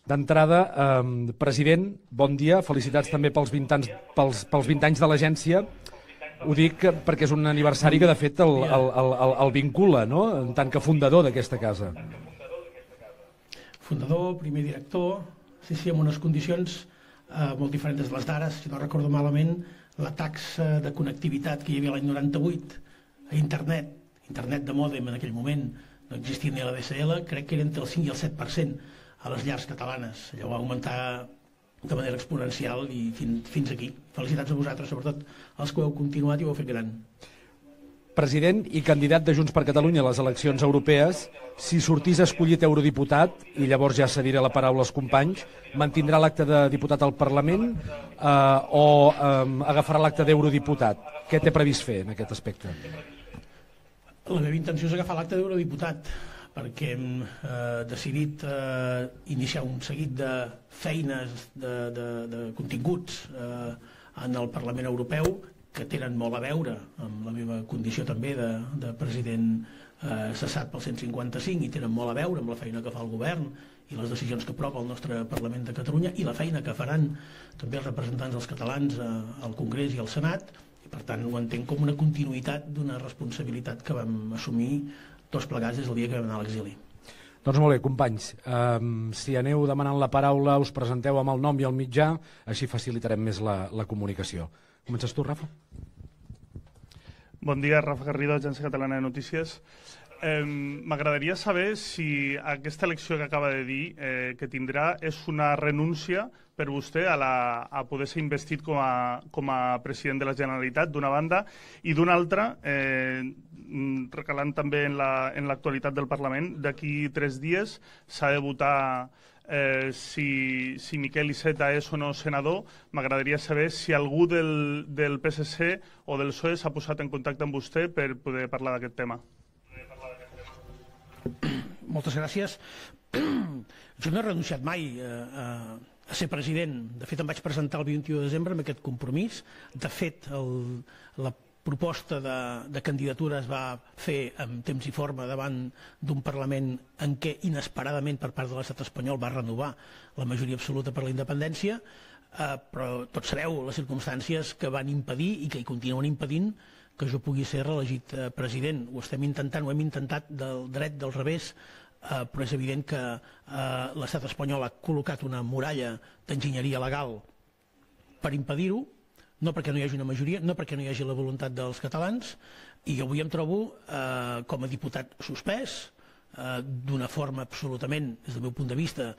D'entrada, president, bon dia, felicitats també pels 20 anys de l'agència. Ho dic perquè és un aniversari que de fet el vincula, no?, en tant que fundador d'aquesta casa. Fundador, primer director, sí, amb unes condicions molt diferents de les d'ara. Si no recordo malament, la taxa de connectivitat que hi havia l'any 98 a internet de mòdem en aquell moment, no existia ni la DSL, crec que era entre el 5 i el 7% a les llars catalanes. Allò va augmentar de manera exponencial i fins aquí. Felicitats a vosaltres, sobretot els que ho heu continuat i ho heu fet gran. President i candidat de Junts per Catalunya a les eleccions europees, si sortís escollit eurodiputat, i llavors ja cediré la paraula als companys, mantindrà l'acte de diputat al Parlament o agafarà l'acte d'eurodiputat? Què té previst fer en aquest aspecte? La meva intenció és agafar l'acte d'eurodiputat, perquè hem decidit iniciar un seguit de feines, de continguts en el Parlament Europeu que tenen molt a veure amb la meva condició també de president cessat pel 155 i tenen molt a veure amb la feina que fa el govern i les decisions que aprova el nostre Parlament de Catalunya i la feina que faran també els representants dels catalans al Congrés i al Senat, i per tant ho entenc com una continuïtat d'una responsabilitat que vam assumir tots plegats des del dia que vam anar a l'exili. Doncs molt bé, companys, si aneu demanant la paraula, us presenteu amb el nom i el mitjà, així facilitarem més la comunicació. Comences tu, Rafa? Bon dia, Rafa Garrido, Agència Catalana de Notícies. M'agradaria saber si aquesta elecció que acaba de dir que tindrà és una renúncia per vostè a poder ser investit com a president de la Generalitat, d'una banda, i d'una altra, recalant també en l'actualitat del Parlament, d'aquí 3 dies s'ha de votar si Miquel Iceta és o no senador. M'agradaria saber si algú del PSC o del PSOE s'ha posat en contacte amb vostè per poder parlar d'aquest tema. Moltes gràcies. Jo no he renunciat mai a ser president. De fet, em vaig presentar el 21 de desembre amb aquest compromís. De fet, la proposta de candidatura es va fer en temps i forma davant d'un Parlament en què inesperadament per part de l'estat espanyol va renovar la majoria absoluta per la independència, però tots sabeu les circumstàncies que van impedir i que hi continuen impedint que jo pugui ser reelegit president. Ho estem intentant, ho hem intentat del dret, del revés, però és evident que l'estat espanyol ha col·locat una muralla d'enginyeria legal per impedir-ho, no perquè no hi hagi una majoria, no perquè no hi hagi la voluntat dels catalans, i jo avui em trobo com a diputat suspès, d'una forma absolutament, des del meu punt de vista,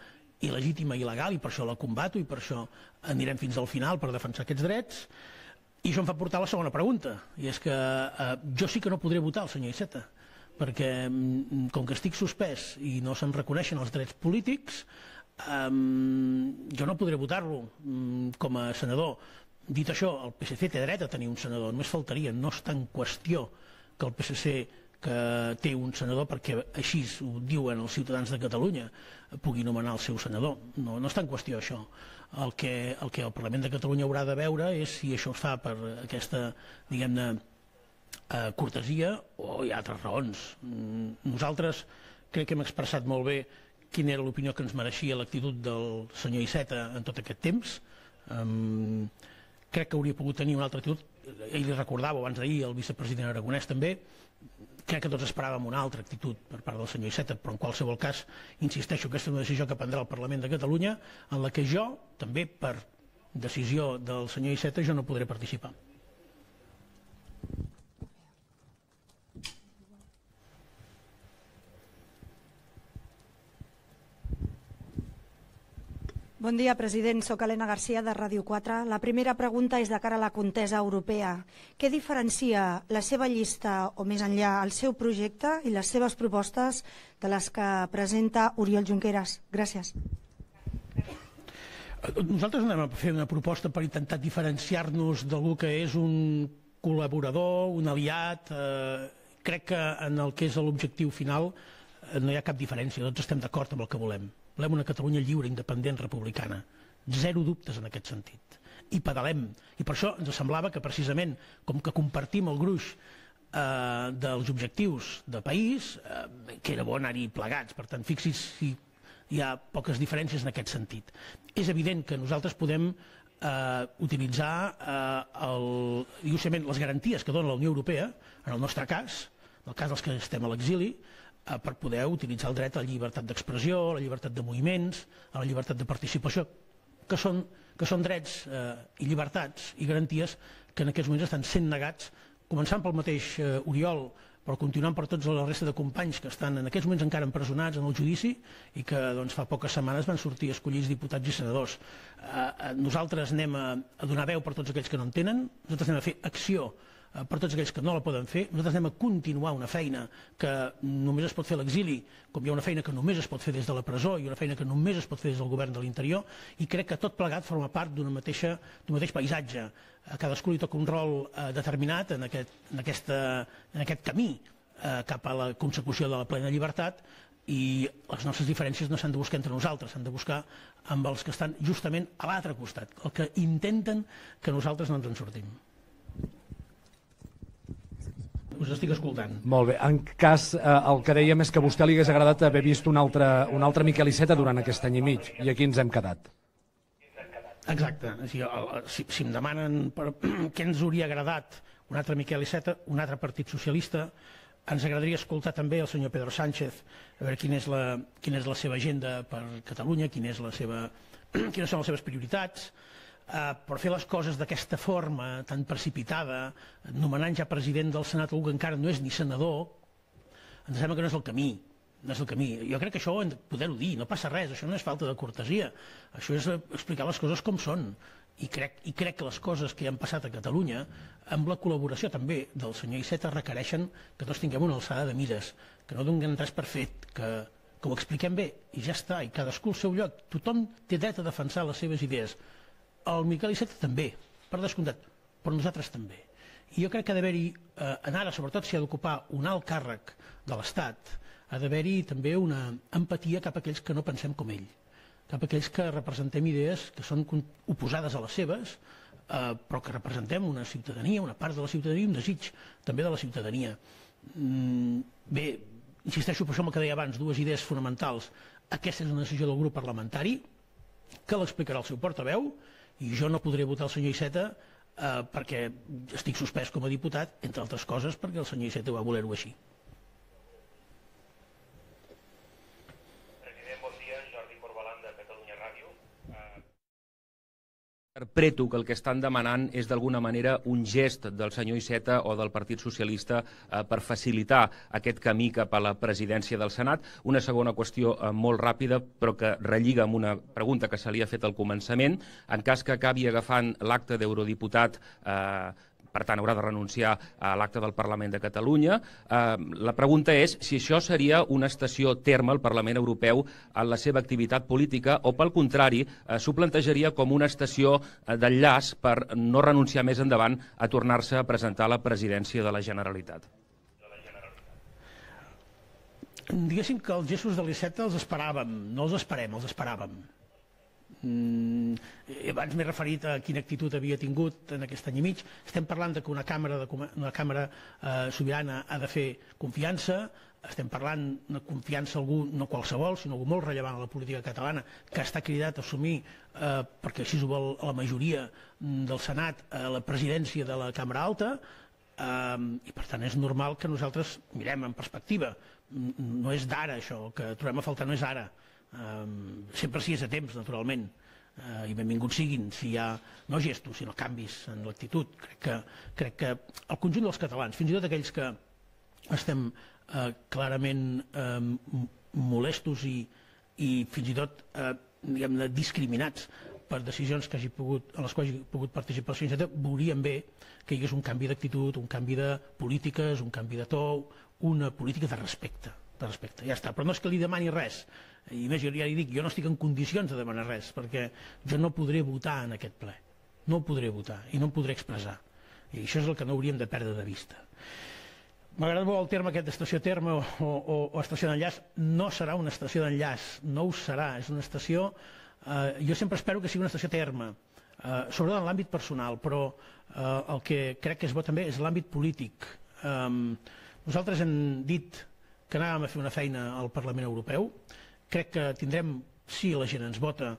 il·legítima i il·legal, i per això la combato, i per això anirem fins al final per defensar aquests drets. I això em fa portar a la segona pregunta, i és que jo sí que no podré votar el senyor Iceta, perquè com que estic suspès i no se'm reconeixen els drets polítics, jo no podré votar-lo com a senador. Dit això, el PSC té dret a tenir un senador, només faltaria, no està en qüestió que el PSC que té un senador, perquè així ho diuen els ciutadans de Catalunya, pugui nomenar el seu senador. No està en qüestió això. El que el Parlament de Catalunya haurà de veure és si això es fa per aquesta, diguem-ne, cortesia o hi ha altres raons. Nosaltres crec que hem expressat molt bé quina era l'opinió que ens mereixia l'actitud del senyor Iceta en tot aquest temps. Crec que hauria pogut tenir una altra actitud. Ell li recordava abans d'ahir, el vicepresident Aragonès també. Crec que tots esperàvem una altra actitud per part del senyor Iceta, però en qualsevol cas, insisteixo, aquesta és una decisió que prendrà el Parlament de Catalunya, en la que jo, també per decisió del senyor Iceta, jo no podré participar. Bon dia, president. Soc Helena Garcia, de Ràdio 4. La primera pregunta és de cara a la contesa europea. Què diferencia la seva llista, o més enllà, el seu projecte i les seves propostes de les que presenta Oriol Junqueras? Gràcies. Nosaltres anem a fer una proposta per intentar diferenciar-nos d'algú que és un col·laborador, un aliat. Crec que en el que és l'objectiu final no hi ha cap diferència, tots estem d'acord amb el que volem. Volem una Catalunya lliure, independent, republicana. Zero dubtes en aquest sentit. I pedalem. I per això ens semblava que precisament, com que compartim el gruix dels objectius de país, que era bo anar-hi plegats. Per tant, fixi's si hi ha poques diferències en aquest sentit. És evident que nosaltres podem utilitzar les garanties que dona la Unió Europea, en el nostre cas, en el cas dels que estem a l'exili, per poder utilitzar el dret a la llibertat d'expressió, a la llibertat de moviments, a la llibertat de participació, que són drets i llibertats i garanties que en aquests moments estan sent negats, començant pel mateix Oriol, però continuant per tota la resta de companys que estan en aquests moments encara empresonats en el judici i que fa poques setmanes van sortir escollits diputats i senadors. Nosaltres anem a donar veu per tots aquells que no en tenen, nosaltres anem a fer acció per tots aquells que no la poden fer, nosaltres anem a continuar una feina que només es pot fer a l'exili, com hi ha una feina que només es pot fer des de la presó i una feina que només es pot fer des del govern de l'interior, i crec que tot plegat forma part d'un mateix paisatge. A cadascú li toca un rol determinat en aquest camí cap a la consecució de la plena llibertat, i les nostres diferències no s'han de buscar entre nosaltres, s'han de buscar amb els que estan justament a l'altre costat, els que intenten que nosaltres no ens en sortim. Us estic escoltant. Molt bé. En cas, el que dèiem és que a vostè li hagués agradat haver vist un altre Miquel Iceta durant aquest any i mig, i aquí ens hem quedat. Exacte. Si em demanen què ens hauria agradat un altre Miquel Iceta, un altre Partit Socialista, ens agradaria escoltar també el senyor Pedro Sánchez, a veure quina és la seva agenda per Catalunya, quines són les seves prioritats, per fer les coses d'aquesta forma tan precipitada, nomenant ja president del Senat algú que encara no és ni senador, ens sembla que no és el camí. Jo crec que això ho hem de poder-ho dir, no passa res, això no és falta de cortesia, això és explicar les coses com són. I crec que les coses que han passat a Catalunya, amb la col·laboració també del senyor Iceta, requereixen que tots tinguem una alçada de mires, que no donem res per fet, que ho expliquem bé i ja està, i cadascú al seu lloc. Tothom té dret a defensar les seves idees. El Miquel Iceta també, per descomptat, però nosaltres també. I jo crec que ha d'haver-hi, en ara, sobretot si ha d'ocupar un alt càrrec de l'Estat, ha d'haver-hi també una empatia cap a aquells que no pensem com ell, cap a aquells que representem idees que són oposades a les seves, però que representem una ciutadania, una part de la ciutadania, un desig també de la ciutadania. Bé, insisteixo per això en el que deia abans, dues idees fonamentals. Aquesta és una decisió del grup parlamentari, que l'explicarà el seu portaveu, i jo no podré votar el senyor Iceta perquè estic suspès com a diputat, entre altres coses perquè el senyor Iceta va voler-ho així. President, bon dia. Jordi Corbalan, de Catalunya Ràdio. Interpreto que el que estan demanant és d'alguna manera un gest del senyor Iceta o del Partit Socialista per facilitar aquest camí cap a la presidència del Senat. Una segona qüestió molt ràpida, però que relliga amb una pregunta que se li ha fet al començament. En cas que acabi agafant l'acte d'eurodiputat, per tant haurà de renunciar a l'acte del Parlament de Catalunya. La pregunta és si això seria una estació terme al Parlament Europeu en la seva activitat política o, pel contrari, s'ho plantejaria com una estació d'enllaç per no renunciar més endavant a tornar-se a presentar a la presidència de la Generalitat. Diguéssim que els gestos de l'Iceta els esperàvem, no els esperem, els esperàvem. Abans m'he referit a quina actitud havia tingut en aquest any i mig. Estem parlant que una càmera sobirana ha de fer confiança, estem parlant de confiança a algú, no qualsevol, sinó algú molt rellevant a la política catalana, que està cridat a assumir, perquè així ho vol la majoria del Senat, la presidència de la Cambra Alta, i per tant és normal que nosaltres mirem en perspectiva. No és d'ara això, el que trobem a faltar no és ara. Sempre si és a temps, naturalment, i benvinguts siguin si hi ha no gestos sinó canvis en l'actitud. Crec que el conjunt dels catalans, fins i tot aquells que estem clarament molestos i fins i tot diguem-ne discriminats per decisions en les quals hagi pogut participar el senyor Iceta, veuríem bé que hi hagués un canvi d'actitud, un canvi de polítiques, un canvi de to, una política de respecte. Ja està, però no és que li demani res, i més, jo ja li dic, jo no estic en condicions de demanar res, perquè jo no podré votar en aquest ple, no podré votar i no em podré expressar, i això és el que no hauríem de perdre de vista. M'agrada molt el terme aquest d'estació terme o estació d'enllaç. No serà una estació d'enllaç, no ho serà, és una estació, jo sempre espero que sigui una estació terme, sobretot en l'àmbit personal, però el que crec que és bo també és l'àmbit polític. Nosaltres hem dit que anàvem a fer una feina al Parlament Europeu, Crec que tindrem, si la gent ens vota,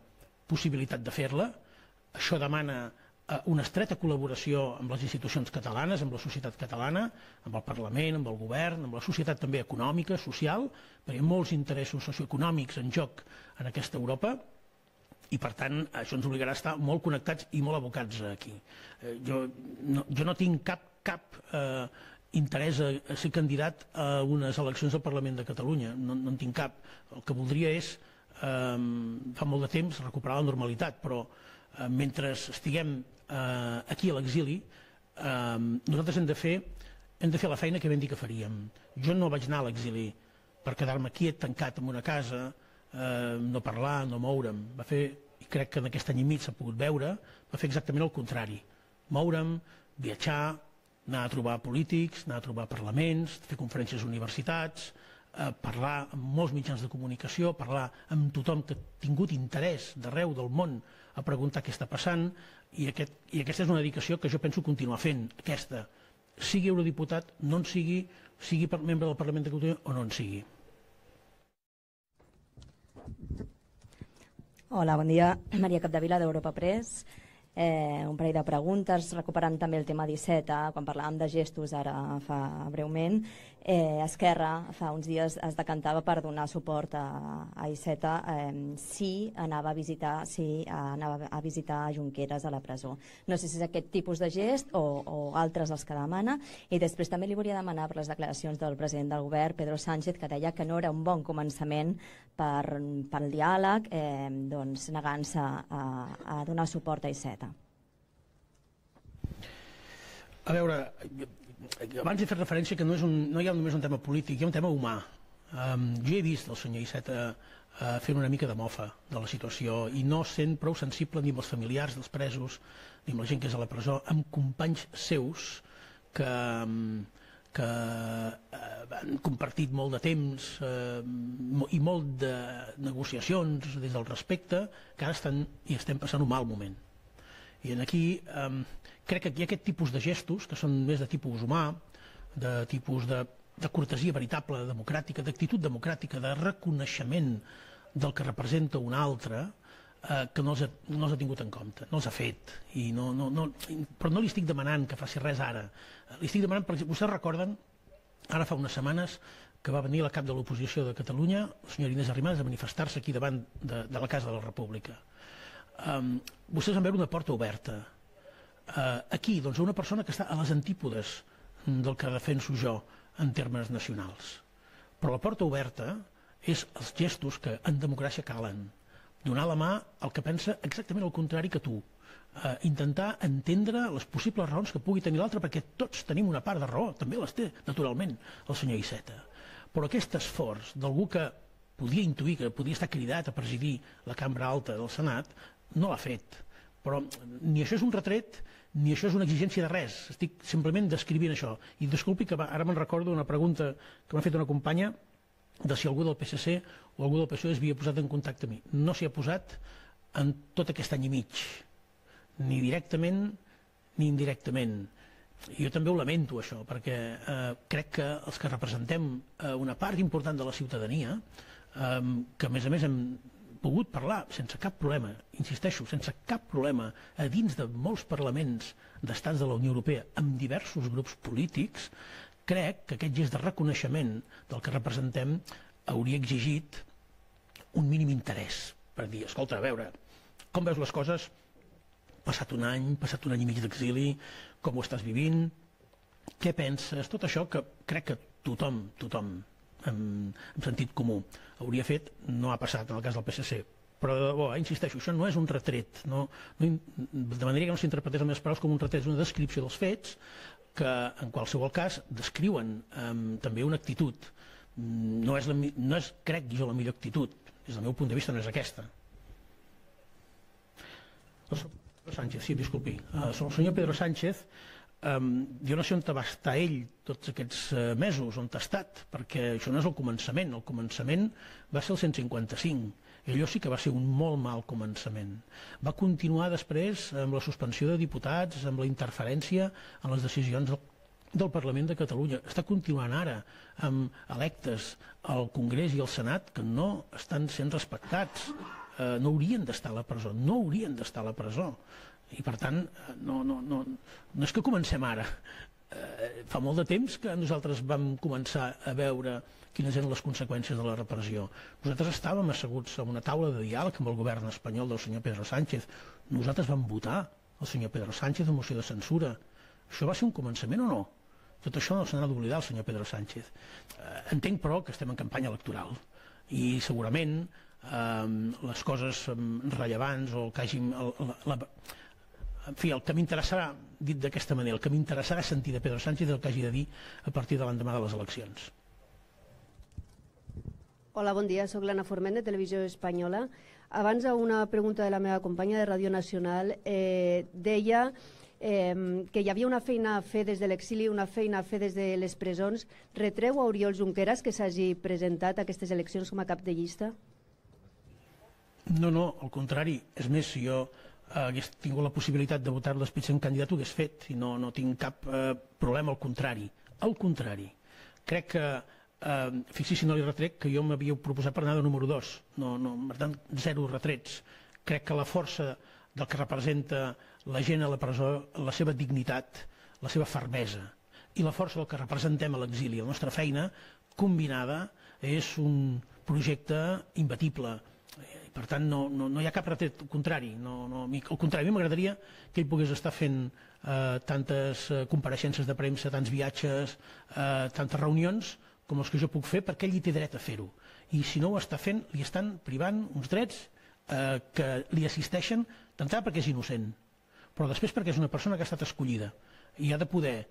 possibilitat de fer-la. Això demana una estreta col·laboració amb les institucions catalanes, amb la societat catalana, amb el Parlament, amb el govern, amb la societat també econòmica, social, perquè hi ha molts interessos socioeconòmics en joc en aquesta Europa, i per tant això ens obligarà a estar molt connectats i molt abocats aquí. Jo no tinc cap interès a ser candidat a unes eleccions al Parlament de Catalunya, no en tinc cap. El que voldria és, fa molt de temps, recuperar la normalitat, però mentre estiguem aquí a l'exili, nosaltres hem de fer la feina que vam dir que faríem. Jo no vaig anar a l'exili per quedar-me quiet, tancat en una casa, no parlar, no moure'm. I crec que en aquest any i mig s'ha pogut veure, va fer exactament el contrari. Moure'm, viatjar, anar a trobar polítics, anar a trobar parlaments, fer conferències a universitats, parlar amb molts mitjans de comunicació, parlar amb tothom que ha tingut interès d'arreu del món a preguntar què està passant, i aquesta és una dedicació que jo penso continuar fent, aquesta. Sigui eurodiputat, no en sigui membre del Parlament de Catalunya o no en sigui. Hola, bon dia. Maria Capdevila, d'Europa Press. Un parell de preguntes, recuperant també el tema d'Iceta, quan parlàvem de gestos ara fa breument. Esquerra fa uns dies es decantava per donar suport a Iceta si anava a visitar Junqueras a la presó. No sé si és aquest tipus de gest o altres els que demana. I després també li volia demanar per les declaracions del president del govern, Pedro Sánchez, que deia que no era un bon començament pel diàleg, negant-se a donar suport a Iceta. A veure, abans he fet referència que no hi ha només un tema polític, hi ha un tema humà. Jo he vist el senyor Iceta fent una mica de mofa de la situació i no sent prou sensible ni amb els familiars dels presos ni amb la gent que és a la presó, amb companys seus que han compartit molt de temps i molt de negociacions des del respecte, que ara estem passant un mal moment. I aquí crec que hi ha aquest tipus de gestos que són més de tipus humà, de tipus de cortesia veritable, democràtica, d'actitud democràtica, de reconeixement del que representa un altre, que no els ha tingut en compte, no els ha fet. Però no li estic demanant que faci res ara. Li estic demanant, per exemple, vostès recorden, ara fa unes setmanes, que va venir la cap de l'oposició de Catalunya, la senyora Inés Arrimadas, a manifestar-se aquí davant de la Casa de la República. Vostès van veure una porta oberta. Aquí, doncs, una persona que està a les antípodes del que defenso jo en termes nacionals. Però la porta oberta és els gestos que en democràcia calen. Donar la mà al que pensa exactament el contrari que tu. Intentar entendre les possibles raons que pugui tenir l'altre, perquè tots tenim una part de raó, també les té, naturalment, el senyor Iceta. Però aquest esforç d'algú que podia intuir que podia estar cridat a presidir la cambra alta del Senat, no l'ha fet. Però ni això és un retret ni això és una exigència de res. Estic simplement descrivint això. I disculpi que ara me'n recordo una pregunta que m'ha fet una companya de si algú del PSC o algú del PSOE es havia posat en contacte amb mi. No s'hi ha posat en tot aquest any i mig, ni directament ni indirectament. Jo també ho lamento, això, perquè crec que els que representem una part important de la ciutadania, que a més hem pogut parlar sense cap problema, insisteixo, sense cap problema, a dins de molts parlaments d'estats de la Unió Europea, amb diversos grups polítics, crec que aquest gest de reconeixement del que representem hauria exigit un mínim interès per dir, escolta, a veure, com veus les coses? Passat un any i mig d'exili, com ho estàs vivint? Què penses? Tot això que crec que tothom amb sentit comú hauria fet, no ha passat en el cas del PSC. Però, de debò, insisteixo, això no és un retret, de manera que no s'interpretés les meves paraules com un retret, és una descripció dels fets que, en qualsevol cas, descriuen també una actitud. No és, crec jo, la millor actitud. Des del meu punt de vista no és aquesta. Sánchez, sí, disculpi. El senyor Pedro Sánchez, jo no sé on va estar ell tots aquests mesos, on ha estat, perquè això no és el començament va ser el 155, i allò sí que va ser un molt mal començament. Va continuar després amb la suspensió de diputats, amb la interferència en les decisions del Parlament de Catalunya. Està continuant ara amb electes al Congrés i al Senat que no estan sent respectats. No haurien d'estar a la presó, no haurien d'estar a la presó. I per tant, no és que comencem ara. Fa molt de temps que nosaltres vam començar a veure quines eren les conseqüències de la repressió. Nosaltres estàvem asseguts en una taula de diàleg amb el govern espanyol del senyor Pedro Sánchez. Nosaltres vam votar el senyor Pedro Sánchez en moció de censura. Això va ser un començament o no? Tot això no se n'ha d'oblidar el senyor Pedro Sánchez. Entenc, però, que estem en campanya electoral i segurament les coses rellevants o que hagin... En fi, el que m'interessarà, dit d'aquesta manera, el que m'interessarà sentir de Pedro Sánchez el que hagi de dir a partir de l'endemà de les eleccions. Hola, bon dia, soc l'Anna Forment, de Televisió Espanyola. Abans, a una pregunta de la meva companya de Ràdio Nacional, deia que hi havia una feina a fer des de l'exili, una feina a fer des de les presons. Retreu a Oriol Junqueras que s'hagi presentat a aquestes eleccions com a cap de llista? No, al contrari. És més, si jo hagués tingut la possibilitat de votar l'espitzer en candidat ho hagués fet i no tinc cap problema, al contrari. Al contrari. Crec que, fixi's si no li retrec, que jo m'havia proposat per anar de número 2. Per tant, 0 retrets. Crec que la força del que representa la gent a la presó, la seva dignitat, la seva fermesa i la força del que representem a l'exili, la nostra feina combinada, és un projecte imbatible. Per tant, no hi ha cap retret, al contrari. Al contrari, a mi m'agradaria que ell pogués estar fent tantes compareixences de premsa, tants viatges, tantes reunions com els que jo puc fer, perquè ell hi té dret a fer-ho. I si no ho està fent, li estan privant uns drets que li assisteixen, d'entrada perquè és innocent, però després perquè és una persona que ha estat escollida i ha de poder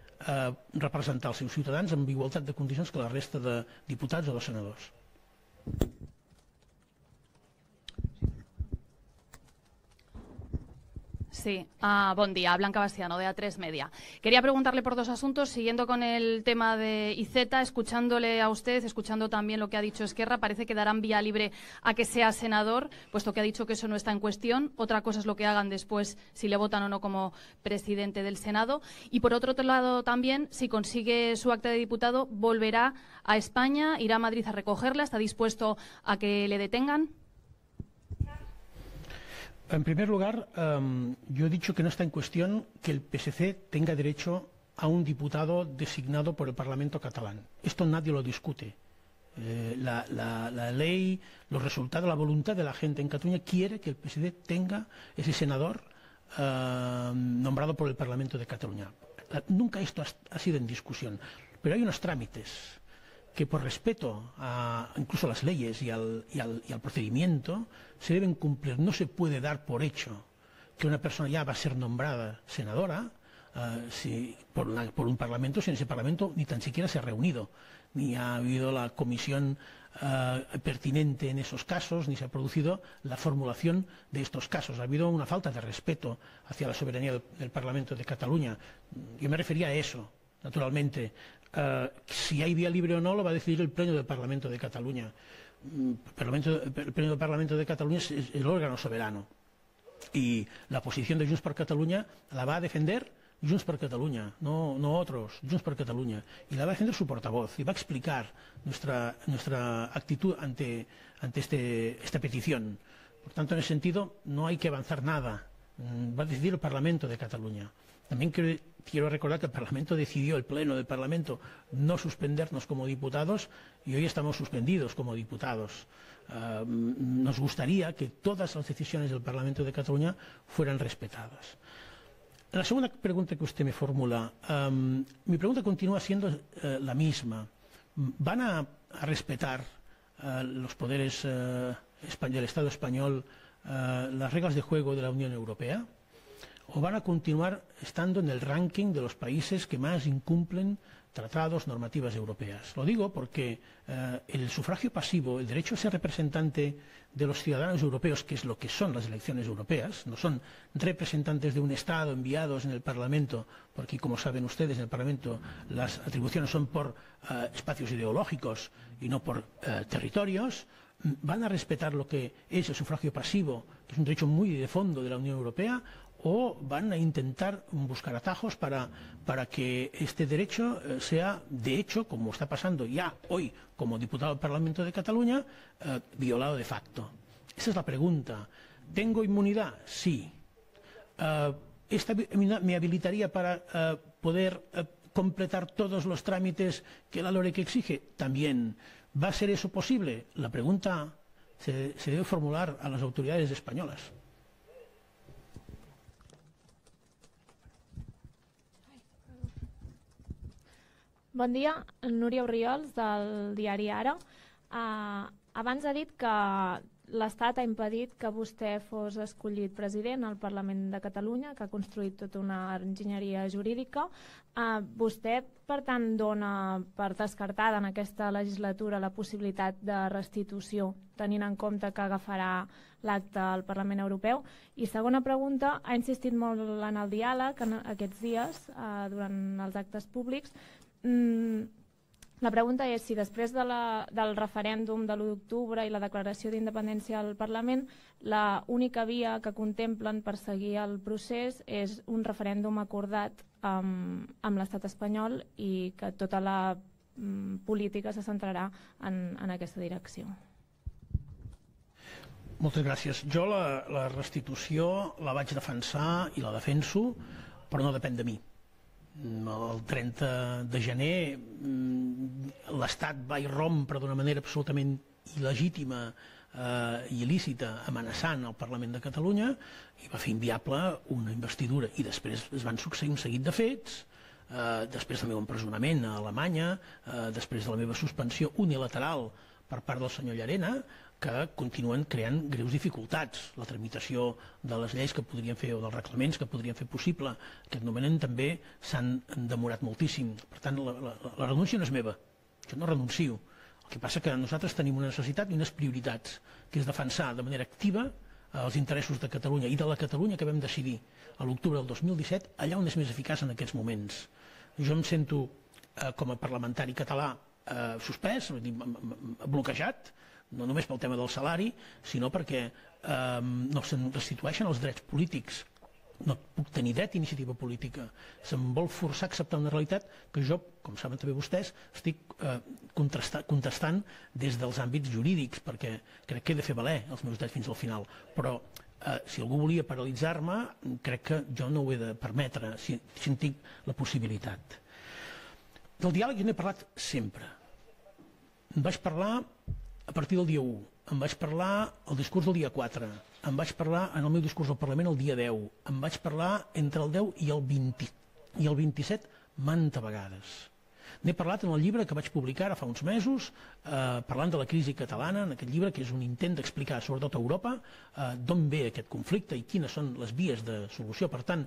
representar els seus ciutadans amb igualtat de condicions que la resta de diputats o de senadors. Sí, buen día, Blanca Bastiano, de A3 Media. Quería preguntarle por dos asuntos, siguiendo con el tema de IZ, escuchándole a usted, escuchando también lo que ha dicho Esquerra, parece que darán vía libre a que sea senador, puesto que ha dicho que eso no está en cuestión. Otra cosa es lo que hagan después, si le votan o no como presidente del Senado. Y por otro lado también, si consigue su acta de diputado, volverá a España, irá a Madrid a recogerla, ¿está dispuesto a que le detengan? En primer lugar, yo he dicho que no está en cuestión que el PSC tenga derecho a un diputado designado por el Parlamento catalán. Esto nadie lo discute. La ley, los resultados, la voluntad de la gente en Cataluña quiere que el PSC tenga ese senador nombrado por el Parlamento de Cataluña. Nunca esto ha sido en discusión, pero hay unos trámites que por respeto a incluso las leyes y al procedimiento se deben cumplir. No se puede dar por hecho que una persona ya va a ser nombrada senadora por un parlamento si en ese parlamento ni tan siquiera se ha reunido, ni ha habido la comisión pertinente en esos casos, ni se ha producido la formulación de estos casos. Ha habido una falta de respeto hacia la soberanía del Parlamento de Cataluña. Yo me refería a eso, naturalmente. Si hay vía libre o no lo va a decidir el Pleno del Parlamento de Cataluña. El Pleno del Parlamento de Cataluña es el órgano soberano y la posición de Junts per Catalunya la va a defender Junts per Catalunya, no otros, Junts per Catalunya, y la va a defender su portavoz y va a explicar nuestra actitud ante esta petición. Por tanto, en ese sentido no hay que avanzar nada, va a decidir el Parlamento de Cataluña. También quiero recordar que el Parlamento decidió, el Pleno del Parlamento, no suspendernos como diputados y hoy estamos suspendidos como diputados. Nos gustaría que todas las decisiones del Parlamento de Cataluña fueran respetadas. La segunda pregunta que usted me formula, mi pregunta continúa siendo la misma. ¿Van a respetar los poderes del Estado español las reglas de juego de la Unión Europea? ¿O van a continuar estando en el ranking de los países que más incumplen tratados, normativas europeas? Lo digo porque el sufragio pasivo, el derecho a ser representante de los ciudadanos europeos, que es lo que son las elecciones europeas, no son representantes de un Estado enviados en el Parlamento, porque como saben ustedes, en el Parlamento las atribuciones son por espacios ideológicos y no por territorios. ¿Van a respetar lo que es el sufragio pasivo, que es un derecho muy de fondo de la Unión Europea? o van a intentar buscar atajos para que este derecho sea, de hecho, como está pasando ya hoy como diputado del Parlamento de Cataluña, violado de facto? Esa es la pregunta. ¿Tengo inmunidad? Sí. ¿Esta me habilitaría para poder completar todos los trámites que la LOREC exige? También. ¿Va a ser eso posible? La pregunta se debe formular a las autoridades españolas. Bon dia, Núria Orriols, del diari Ara. Abans ha dit que l'Estat ha impedit que vostè fos escollit president al Parlament de Catalunya, que ha construït tota una enginyeria jurídica. Vostè, per tant, dona per descartada en aquesta legislatura la possibilitat de restitució, tenint en compte que agafarà l'acte al Parlament Europeu? I segona pregunta, ha insistit molt en el diàleg aquests dies, durant els actes públics. La pregunta és si després del referèndum de l'1 d'octubre i la declaració d'independència al Parlament, l'única via que contemplen per seguir el procés és un referèndum acordat amb l'estat espanyol i que tota la política se centrarà en aquesta direcció. Moltes gràcies. Jo la restitució la vaig defensar i la defenso, però no depèn de mi. El 30 de gener l'Estat va irrompre d'una manera absolutament il·legítima i il·lícita, amenaçant el Parlament de Catalunya, i va fer inviable una investidura. I després es van succeir un seguit de fets, després del meu empresonament a Alemanya, després de la meva suspensió unilateral per part del senyor Llarena, que continuen creant greus dificultats. La tramitació de les lleis que podrien fer, o dels reglaments que podrien fer possible aquest nomenament, també s'han demorat moltíssim. Per tant, la renúncia no és meva. Jo no renuncio. El que passa que nosaltres tenim una necessitat i unes prioritats, que és defensar de manera activa els interessos de Catalunya i de la Catalunya que vam decidir a l'octubre del 2017, allà on és més eficaç en aquests moments. Jo em sento, com a parlamentari català, suspès, bloquejat, no només pel tema del salari, sinó perquè no se'n restitueixen els drets polítics. No puc tenir dret a iniciativa política. Se'm vol forçar a acceptar una realitat que jo, com saben també vostès, estic contestant des dels àmbits jurídics, perquè crec que he de fer valer els meus drets fins al final. Però si algú volia paralitzar-me, crec que jo no ho he de permetre, si en tinc la possibilitat. Del diàleg jo n'he parlat sempre. En vaig parlar a partir del dia 1, em vaig parlar al discurs del dia 4, em vaig parlar en el meu discurs al Parlament el dia 10, em vaig parlar entre el 10 i el 27 manta vegades. N'he parlat en el llibre que vaig publicar ara fa uns mesos, parlant de la crisi catalana, en aquest llibre que és un intent d'explicar, sobretot a Europa, d'on ve aquest conflicte i quines són les vies de solució. Per tant,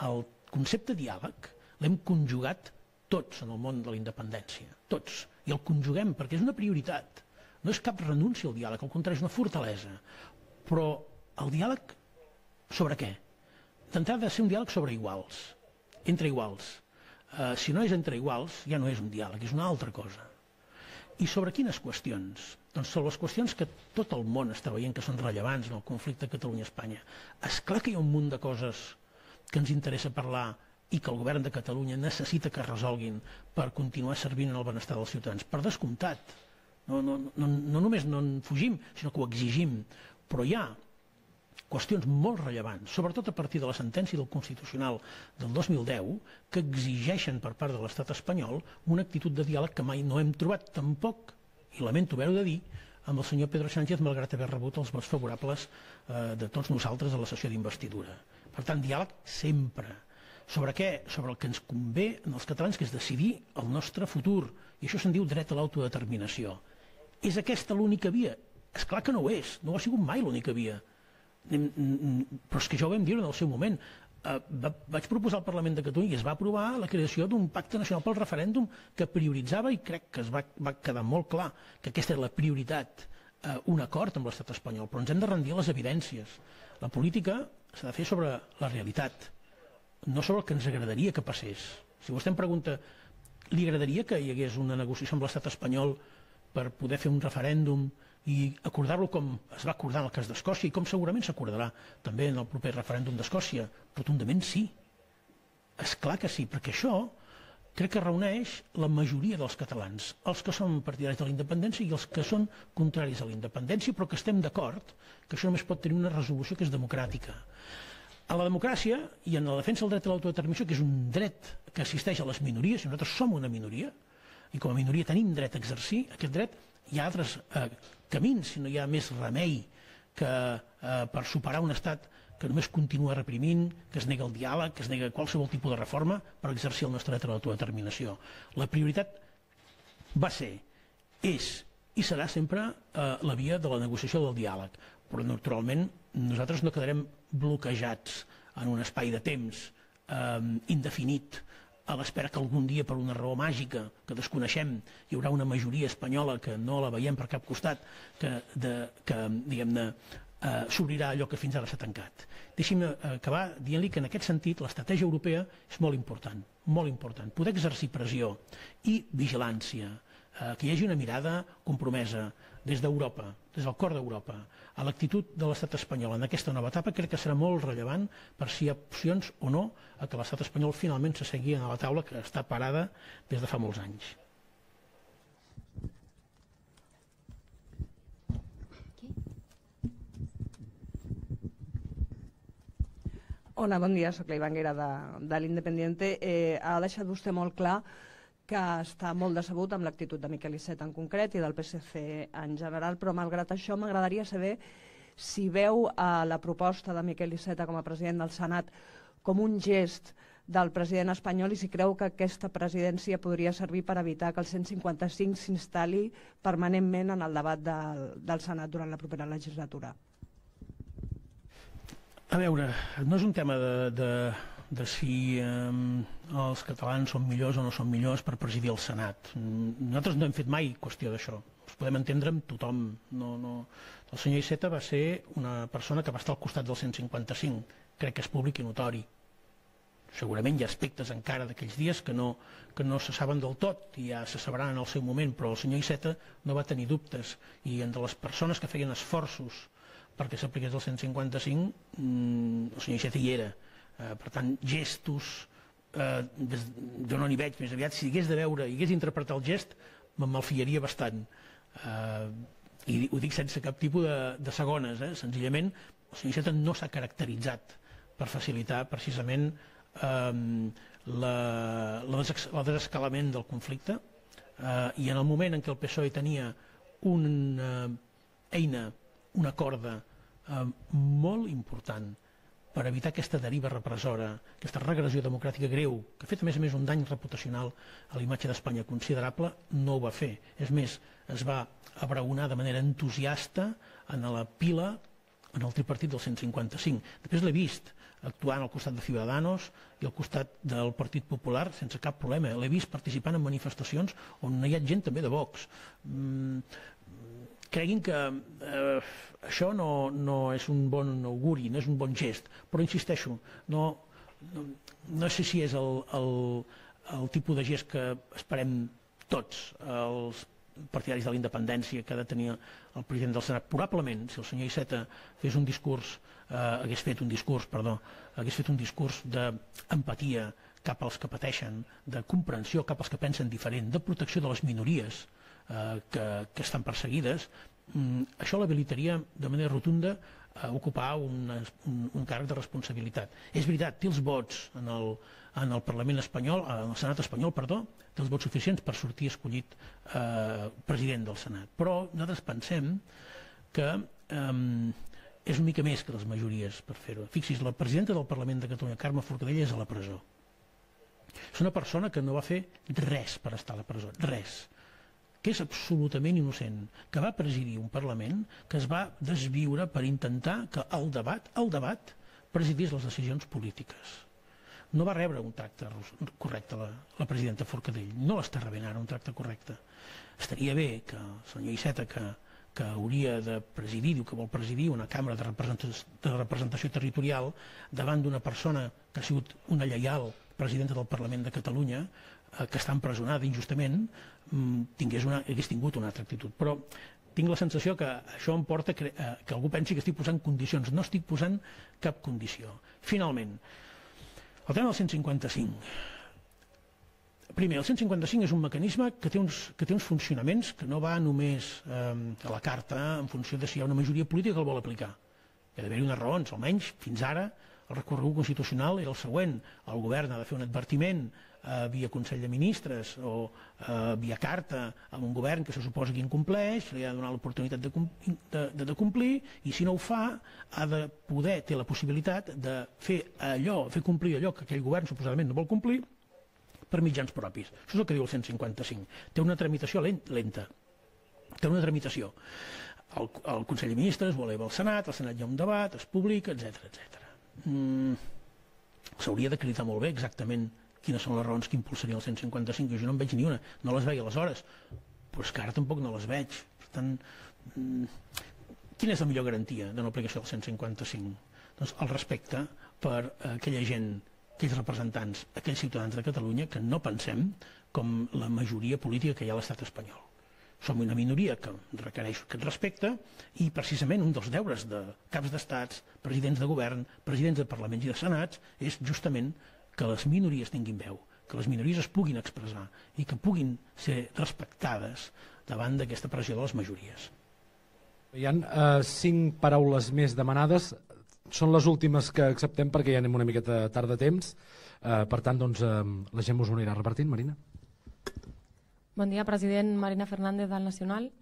el concepte diàleg l'hem conjugat tots en el món de la independència, tots, i el conjuguem perquè és una prioritat. No és cap renúncia al diàleg, al contrari, és una fortalesa. Però el diàleg sobre què? D'entrada ha de ser un diàleg sobre iguals, entre iguals. Si no és entre iguals, ja no és un diàleg, és una altra cosa. I sobre quines qüestions? Doncs sobre les qüestions que tot el món està veient que són rellevants en el conflicte Catalunya-Espanya. És clar que hi ha un munt de coses que ens interessa parlar i que el govern de Catalunya necessita que es resolguin per continuar servint en el benestar dels ciutadans. Per descomptat. No només no en fugim, sinó que ho exigim. Però hi ha qüestions molt rellevants, sobretot a partir de la sentència del Constitucional del 2010, que exigeixen per part de l'estat espanyol una actitud de diàleg que mai no hem trobat tampoc, i lamento haver-ho de dir, amb el senyor Pedro Sánchez, malgrat haver rebut els vots favorables de tots nosaltres a la sessió d'investidura. Per tant, diàleg sempre. Sobre què? Sobre el que ens convé als catalans, que és decidir el nostre futur. I això se'n diu dret a l'autodeterminació. És aquesta l'única via? És clar que no ho és, no ho ha sigut mai l'única via. Però és que ja ho vam dir en el seu moment. Vaig proposar al Parlament de Catalunya i es va aprovar la creació d'un pacte nacional pel referèndum que prioritzava, i crec que es va quedar molt clar que aquesta era la prioritat, un acord amb l'estat espanyol. Però ens hem de rendir a les evidències. La política s'ha de fer sobre la realitat, no sobre el que ens agradaria que passés. Si vostè em pregunta, li agradaria que hi hagués una negociació amb l'estat espanyol per poder fer un referèndum i acordar-lo com es va acordar en el cas d'Escòcia i com segurament s'acordarà també en el proper referèndum d'Escòcia. Rotundament sí. És clar que sí, perquè això crec que reuneix la majoria dels catalans, els que són partidaris de la independència i els que són contraris a la independència, però que estem d'acord que això només pot tenir una resolució que és democràtica. A la democràcia i en la defensa del dret a l'autodeterminació, que és un dret que assisteix a les minories, i nosaltres som una minoria, i com a minoria tenim dret a exercir aquest dret, hi ha altres camins, si no hi ha més remei que per superar un estat que només continua reprimint, que es nega el diàleg, que es nega qualsevol tipus de reforma per exercir el nostre dret a l'autodeterminació. La prioritat va ser, és i serà sempre la via de la negociació del diàleg. Però, naturalment, nosaltres no quedarem bloquejats en un espai de temps indefinit a l'espera que algun dia, per una raó màgica que desconeixem, hi haurà una majoria espanyola que no la veiem per cap costat, que diguem-ne, s'obrirà allò que fins ara s'ha tancat. Deixi'm acabar dient-li que en aquest sentit l'estratègia europea és molt important, molt important. Poder exercir pressió i vigilància, que hi hagi una mirada compromesa des d'Europa, des del cor d'Europa, a l'actitud de l'estat espanyol en aquesta nova etapa, crec que serà molt rellevant per si hi ha opcions o no a que l'estat espanyol finalment s'assegui a la taula que està parada des de fa molts anys. Hola, bon dia, soc la Ivanguera de l'Independiente. Ha deixat vostè molt clar que està molt decebut amb l'actitud de Miquel Iceta en concret i del PSC en general, però malgrat això m'agradaria saber si veu la proposta de Miquel Iceta com a president del Senat com un gest del president espanyol i si creu que aquesta presidència podria servir per evitar que el 155 s'instal·li permanentment en el debat del Senat durant la propera legislatura. A veure, no és un tema de si els catalans són millors o no són millors per presidir el Senat. Nosaltres no hem fet mai qüestió d'això. Ens podem entendre amb tothom. El senyor Iceta va ser una persona que va estar al costat del 155. Crec que és públic i notori. Segurament hi ha aspectes encara d'aquells dies que no se saben del tot i ja se sabran en el seu moment, però el senyor Iceta no va tenir dubtes i entre les persones que feien esforços perquè s'apliqués el 155 el senyor Iceta hi era. Per tant, gestos jo no n'hi veig, més aviat si hagués de veure i hagués d'interpretar el gest me'n malfiaria bastant i ho dic sense cap tipus de segones, senzillament el senyor Iceta no s'ha caracteritzat per facilitar precisament el desescalament del conflicte i en el moment en què el PSOE tenia una eina, una corda molt important per evitar aquesta deriva repressora, aquesta regressió democràtica greu, que ha fet a més un dany reputacional a la imatge d'Espanya considerable, no ho va fer. És més, es va abraonar de manera entusiasta en la pila en el tripartit del 155. Després l'he vist actuant al costat de Ciudadanos i al costat del Partit Popular sense cap problema. L'he vist participant en manifestacions on hi ha gent també de Vox. Creguin que això no és un bon auguri, no és un bon gest, però insisteixo, no sé si és el tipus de gest que esperem tots els partidaris de la independència que ha de tenir el president del Senat. Probablement, si el senyor Iceta hagués fet un discurs d'empatia cap als que pateixen, de comprensió cap als que pensen diferent, de protecció de les minories que estan perseguides, això l'habilitaria de manera rotunda a ocupar un càrrec de responsabilitat. És veritat, té els vots en el Parlament espanyol, en el Senat espanyol, perdó, té els vots suficients per sortir escollit president del Senat. Però nosaltres pensem que és una mica més que les majories per fer-ho. Fixi's, la presidenta del Parlament de Catalunya, Carme Forcadell, és a la presó. És una persona que no va fer res per estar a la presó, res, que és absolutament innocent, que va presidir un Parlament que es va desviure per intentar que el debat presidís les decisions polítiques. No va rebre un tracte correcte la presidenta Forcadell, no l'està rebent ara un tracte correcte. Estaria bé que el senyor Iceta, que hauria de presidir, diu que vol presidir una cambra de representació territorial davant d'una persona que ha sigut una lleial presidenta del Parlament de Catalunya, que està empresonada injustament, hagués tingut una altra actitud. Però tinc la sensació que això em porta que algú pensi que estic posant condicions. No estic posant cap condició. Finalment, el tema del 155. Primer, el 155 és un mecanisme que té uns funcionaments que no va només a la carta en funció de si hi ha una majoria política que el vol aplicar. Hi ha d'haver-hi unes raons, almenys fins ara el recorregut constitucional era el següent. El govern ha de fer un advertiment via Consell de Ministres o via carta a un govern que se suposa que incompleix, li ha de donar l'oportunitat de complir, i si no ho fa ha de poder, té la possibilitat de fer complir allò que aquell govern suposadament no vol complir per mitjans propis. Això és el que diu el 155. Té una tramitació lenta. Té una tramitació. El Consell de Ministres ho eleva al Senat hi ha un debat, es publica, etc. S'hauria d'acreditar molt bé exactament quines són les raons que impulsarien el 155, jo no en veig ni una, no les veia aleshores, però és que ara tampoc no les veig. Per tant, quina és la millor garantia de no aplicació del 155? Doncs el respecte per aquella gent, aquells representants, aquells ciutadans de Catalunya que no pensem com la majoria política que hi ha a l'estat espanyol. Som una minoria que requereix aquest respecte i precisament un dels deures de caps d'estats, presidents de govern, presidents de parlaments i de senats és justament que les minories tinguin veu, que les minories es puguin expressar i que puguin ser respectades davant d'aquesta pressió de les majories. Hi ha 5 paraules més demanades. Són les últimes que acceptem perquè ja anem una miqueta tard de temps. Per tant, doncs, la gent us ho anirà repartint. Marina. Bon dia, president. Marina Fernández del Nacional.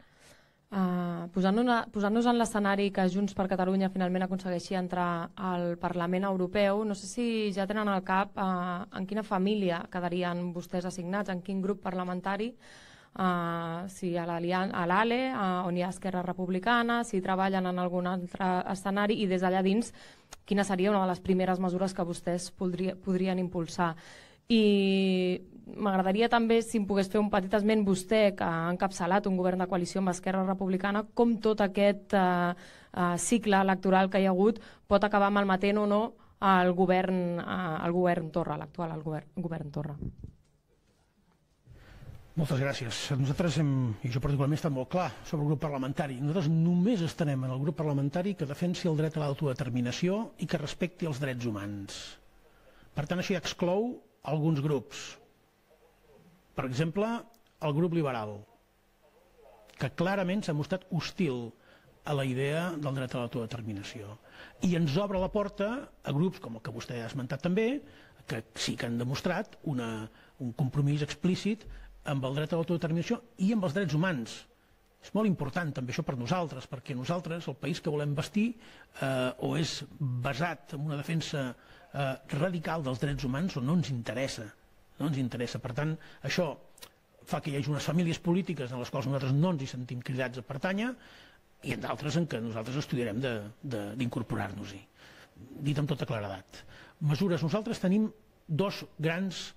Posant-nos en l'escenari que Junts per Catalunya finalment aconsegueixi entrar al Parlament Europeu, no sé si ja tenen al cap en quina família quedarien vostès assignats, en quin grup parlamentari, si a l'ALE, on hi ha Esquerra Republicana, si treballen en algun altre escenari i des d'allà dins quina seria una de les primeres mesures que vostès podrien impulsar. I m'agradaria també, si em pogués fer un petit esment, vostè, que ha encapçalat un govern de coalició amb Esquerra Republicana, com tot aquest cicle electoral que hi ha hagut pot acabar malmetent o no el govern Torra, l'actual govern Torra. Moltes gràcies. Nosaltres i jo particularment he estat molt clar sobre el grup parlamentari. Nosaltres només estarem en el grup parlamentari que defensi el dret a l'autodeterminació i que respecti els drets humans. Per tant, això ja exclou alguns grups. Per exemple, el grup liberal, que clarament s'ha mostrat hostil a la idea del dret a l'autodeterminació. I ens obre la porta a grups, com el que vostè ha esmentat també, que sí que han demostrat un compromís explícit amb el dret a l'autodeterminació i amb els drets humans. És molt important també això per nosaltres, perquè nosaltres, el país que volem bastir, o és basat en una defensa radical dels drets humans o no ens interessa. Per tant, això fa que hi hagi unes famílies polítiques en les quals nosaltres no ens hi sentim cridats a pertànyer i en d'altres en què nosaltres estudiarem d'incorporar-nos-hi. Dit amb tota claredat. Mesures, nosaltres tenim 2 grans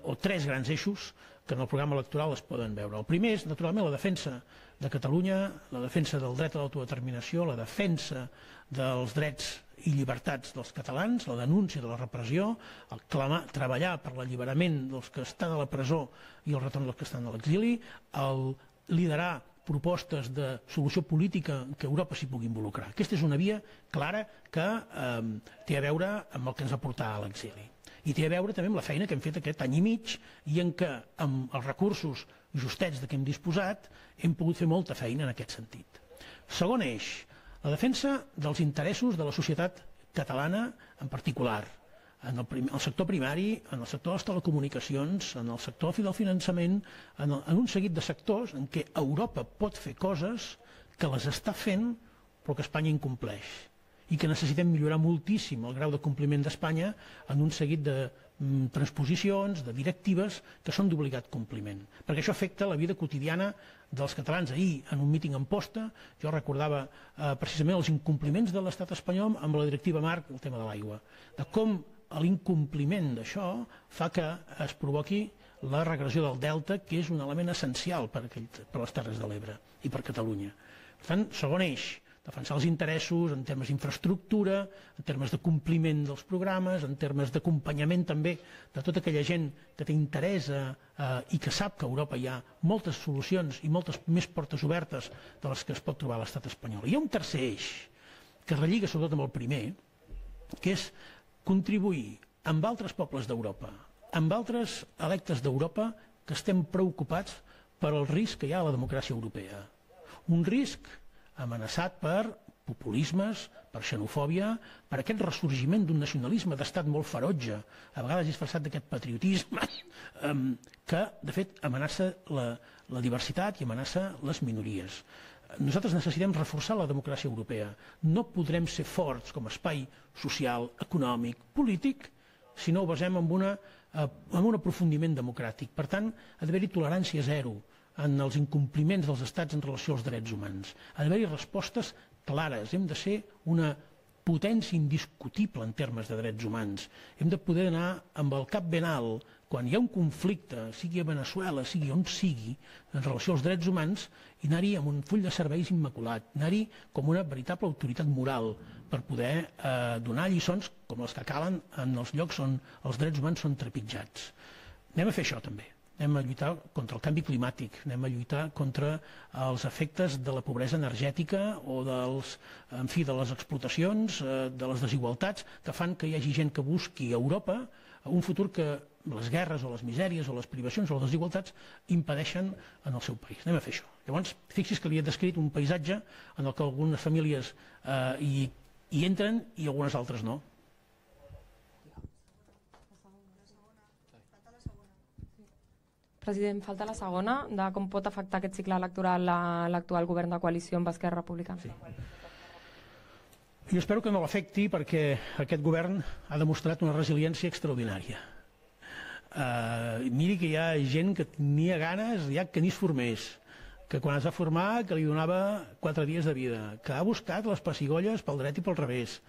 o 3 grans eixos que en el programa electoral es poden veure. El primer és, naturalment, la defensa de Catalunya, la defensa del dret a l'autodeterminació, la defensa dels drets i llibertats dels catalans, la denúncia de la repressió, el treballar per l'alliberament dels que estan a la presó i el retorn dels que estan a l'exili, el liderar propostes de solució política que Europa s'hi pugui involucrar. Aquesta és una via clara que té a veure amb el que ens va portar a l'exili. I té a veure també amb la feina que hem fet aquest any i mig i en què, amb els recursos justets de què hem disposat, hem pogut fer molta feina en aquest sentit. Segon eix, la defensa dels interessos de la societat catalana en particular, en el sector primari, en el sector de les telecomunicacions, en el sector del finançament, en un seguit de sectors en què Europa pot fer coses que les està fent però que Espanya incompleix i que necessitem millorar moltíssim el grau de compliment d'Espanya en un seguit de transposicions, de directives que són d'obligat compliment, perquè això afecta la vida quotidiana dels catalans. Ahir, en un míting en Posta, jo recordava precisament els incompliments de l'estat espanyol amb la directiva marc, el tema de l'aigua, de com l'incompliment d'això fa que es provoqui la regressió del delta, que és un element essencial per les Terres de l'Ebre i per Catalunya. Per tant, segon eix, defensar els interessos en termes d'infraestructura, en termes de compliment dels programes, en termes d'acompanyament també de tota aquella gent que té interès i que sap que a Europa hi ha moltes solucions i moltes més portes obertes de les que es pot trobar a l'estat espanyol. Hi ha un tercer eix que es relliga sobretot amb el primer, que és contribuir amb altres pobles d'Europa, amb altres electes d'Europa que estem preocupats per el risc que hi ha a la democràcia europea. Un risc amenaçat per populismes, per xenofòbia, per aquest ressorgiment d'un nacionalisme d'estat molt ferotge, a vegades disfressat d'aquest patriotisme, que, de fet, amenaça la diversitat i amenaça les minories. Nosaltres necessitem reforçar la democràcia europea. No podrem ser forts com a espai social, econòmic, polític, si no ho basem en un aprofundiment democràtic. Per tant, ha d'haver-hi tolerància zero en els incompliments dels estats en relació als drets humans. Ha d'haver-hi respostes clares. Hem de ser una potència indiscutible en termes de drets humans. Hem de poder anar amb el cap ben alt quan hi ha un conflicte, sigui a Veneçuela, sigui on sigui, en relació als drets humans, i anar-hi amb un full de serveis immaculat, anar-hi com una veritable autoritat moral per poder donar lliçons com les que calen en els llocs on els drets humans són trepitjats. Anem a fer això també. Anem a lluitar contra el canvi climàtic, anem a lluitar contra els efectes de la pobresa energètica o de les explotacions, de les desigualtats que fan que hi hagi gent que busqui a Europa un futur que les guerres o les misèries o les privacions o les desigualtats impedeixen en el seu país. Anem a fer això. Llavors, fixi's que li he descrit un paisatge en el que algunes famílies hi entren i algunes altres no. President, falta la segona, de com pot afectar aquest cicle electoral l'actual govern de coalició amb Esquerra Republicana. Sí. Jo espero que no l'afecti perquè aquest govern ha demostrat una resiliència extraordinària. Miri que hi ha gent que tenia ganes ja que ni es formés, que quan es va formar que li donava 4 dies de vida, que ha buscat les pessigolles pel dret i pel revés,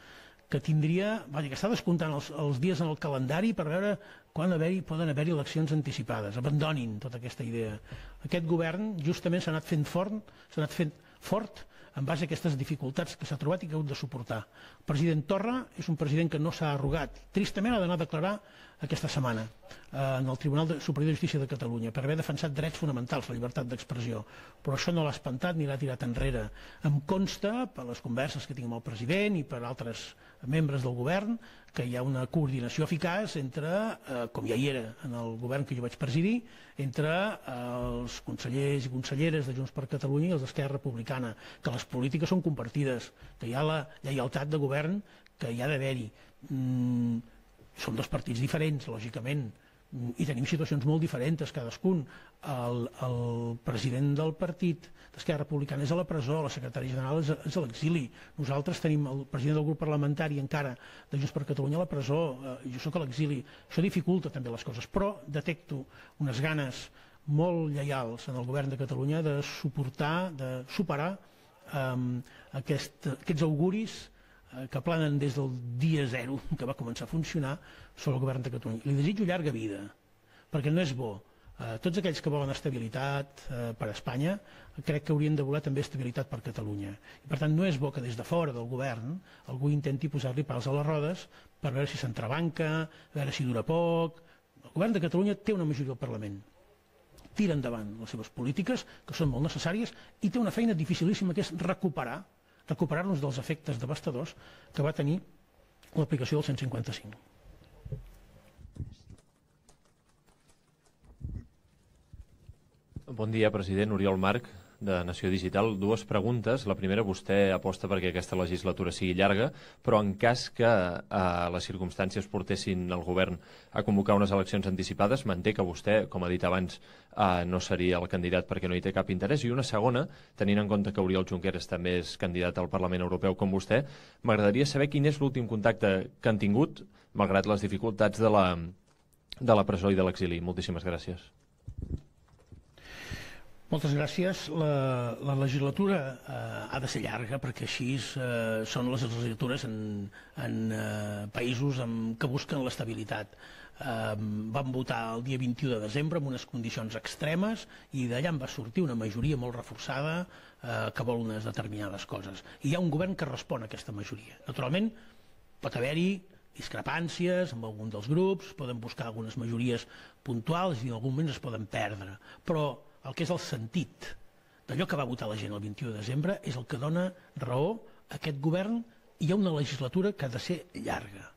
que està descomptant els dies en el calendari per veure quan poden haver-hi eleccions anticipades. Abandonin tota aquesta idea. Aquest govern justament s'ha anat fent fort en base a aquestes dificultats que s'ha trobat i que ha hagut de suportar. El president Torra és un president que no s'ha arrugat. Tristament ha d'anar a declarar aquesta setmana en el Tribunal Superior de Justícia de Catalunya per haver defensat drets fonamentals, la llibertat d'expressió. Però això no l'ha espantat ni l'ha tirat enrere. Em consta, per les converses que tinc amb el president i per altres membres del govern, que hi ha una coordinació eficaç entre, com ja hi era en el govern que jo vaig presidir, entre els consellers i conselleres de Junts per Catalunya i els d'Esquerra Republicana, que les polítiques són compartides, que hi ha la lleialtat de govern que hi ha d'haver-hi. Són dos partits diferents, lògicament, i tenim situacions molt diferents cadascun. El president del partit d'Esquerra Republicana és a la presó, la secretària general és a l'exili. Nosaltres tenim el president del grup parlamentari encara de Junts per Catalunya a la presó, jo sóc a l'exili. Això dificulta també les coses, però detecto unes ganes molt lleials en el govern de Catalunya de suportar, de superar aquests auguris que planen des del dia zero que va començar a funcionar sobre el govern de Catalunya. Li desitjo llarga vida, perquè no és bo. Tots aquells que volen estabilitat per a Espanya crec que haurien de voler també estabilitat per a Catalunya. I per tant no és bo que des de fora del govern algú intenti posar-li pals a les rodes per veure si s'entrebanca, a veure si dura poc. El govern de Catalunya té una majoria al Parlament, tira endavant les seves polítiques, que són molt necessàries, i té una feina dificilíssima que és recuperar-nos dels efectes devastadors que va tenir l'aplicació del 155. Bon dia, president. Oriol Marc, de Nació Digital. 2 preguntes. La primera, vostè aposta perquè aquesta legislatura sigui llarga, però en cas que les circumstàncies portessin el govern a convocar unes eleccions anticipades, manté que vostè, com ha dit abans, no seria el candidat perquè no hi té cap interès. I una segona, tenint en compte que Oriol Junqueras també és candidat al Parlament Europeu com vostè, m'agradaria saber quin és l'últim contacte que han tingut, malgrat les dificultats de la presó i de l'exili. Moltíssimes gràcies. Moltes gràcies. La legislatura ha de ser llarga perquè així són les legislatures en països que busquen l'estabilitat. Vam votar el dia 21 de desembre amb unes condicions extremes i d'allà en va sortir una majoria molt reforçada que vol unes determinades coses. I hi ha un govern que respon a aquesta majoria. Naturalment, pot haver-hi discrepàncies amb algun dels grups, poden buscar algunes majories puntuals i en algun moment es poden perdre. Però el que és el sentit d'allò que va votar la gent el 21 de desembre és el que dona raó a aquest govern i hi ha una legislatura que ha de ser llarga.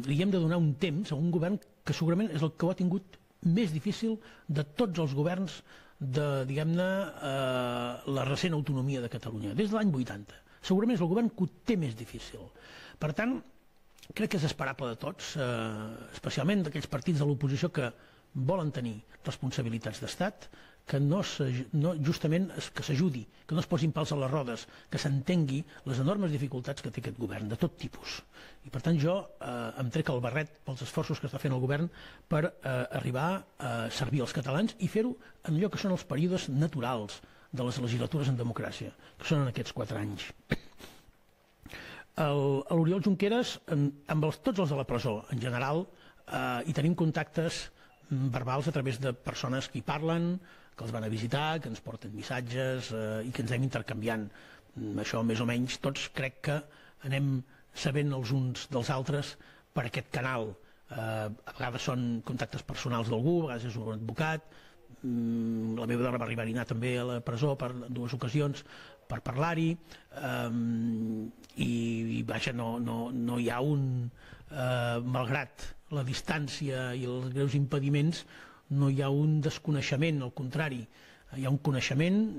Li hem de donar un temps a un govern que segurament és el que ho ha tingut més difícil de tots els governs de, diguem-ne, la recent autonomia de Catalunya, des de l'any 80. Segurament és el govern que ho té més difícil. Per tant, crec que és esperable de tots, especialment d'aquells partits de l'oposició que volen tenir responsabilitats d'estat, que justament que s'ajudi, que no es posin pals a les rodes, que s'entengui les enormes dificultats que té aquest govern, de tot tipus. I per tant jo em trec el barret pels esforços que està fent el govern per arribar a servir els catalans i fer-ho en allò que són els períodes naturals de les legislatures en democràcia, que són en aquests 4 anys. L'Oriol Junqueras, amb tots els de la presó en general, hi tenim contactes verbals a través de persones que hi parlen, que els van a visitar, que ens porten missatges i que ens anem intercanviant. Això més o menys tots crec que anem sabent els uns dels altres per aquest canal. A vegades són contactes personals d'algú, a vegades és un advocat. La meva dona va arribar a anar també a la presó per 2 ocasions per parlar-hi i vaja, no hi ha malgrat la distància i els greus impediments, no hi ha un desconeixement, al contrari, hi ha un coneixement.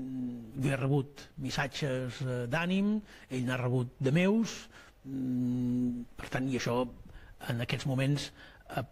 Jo he rebut missatges d'ànim, ell n'ha rebut de meus, per tant, i això en aquests moments,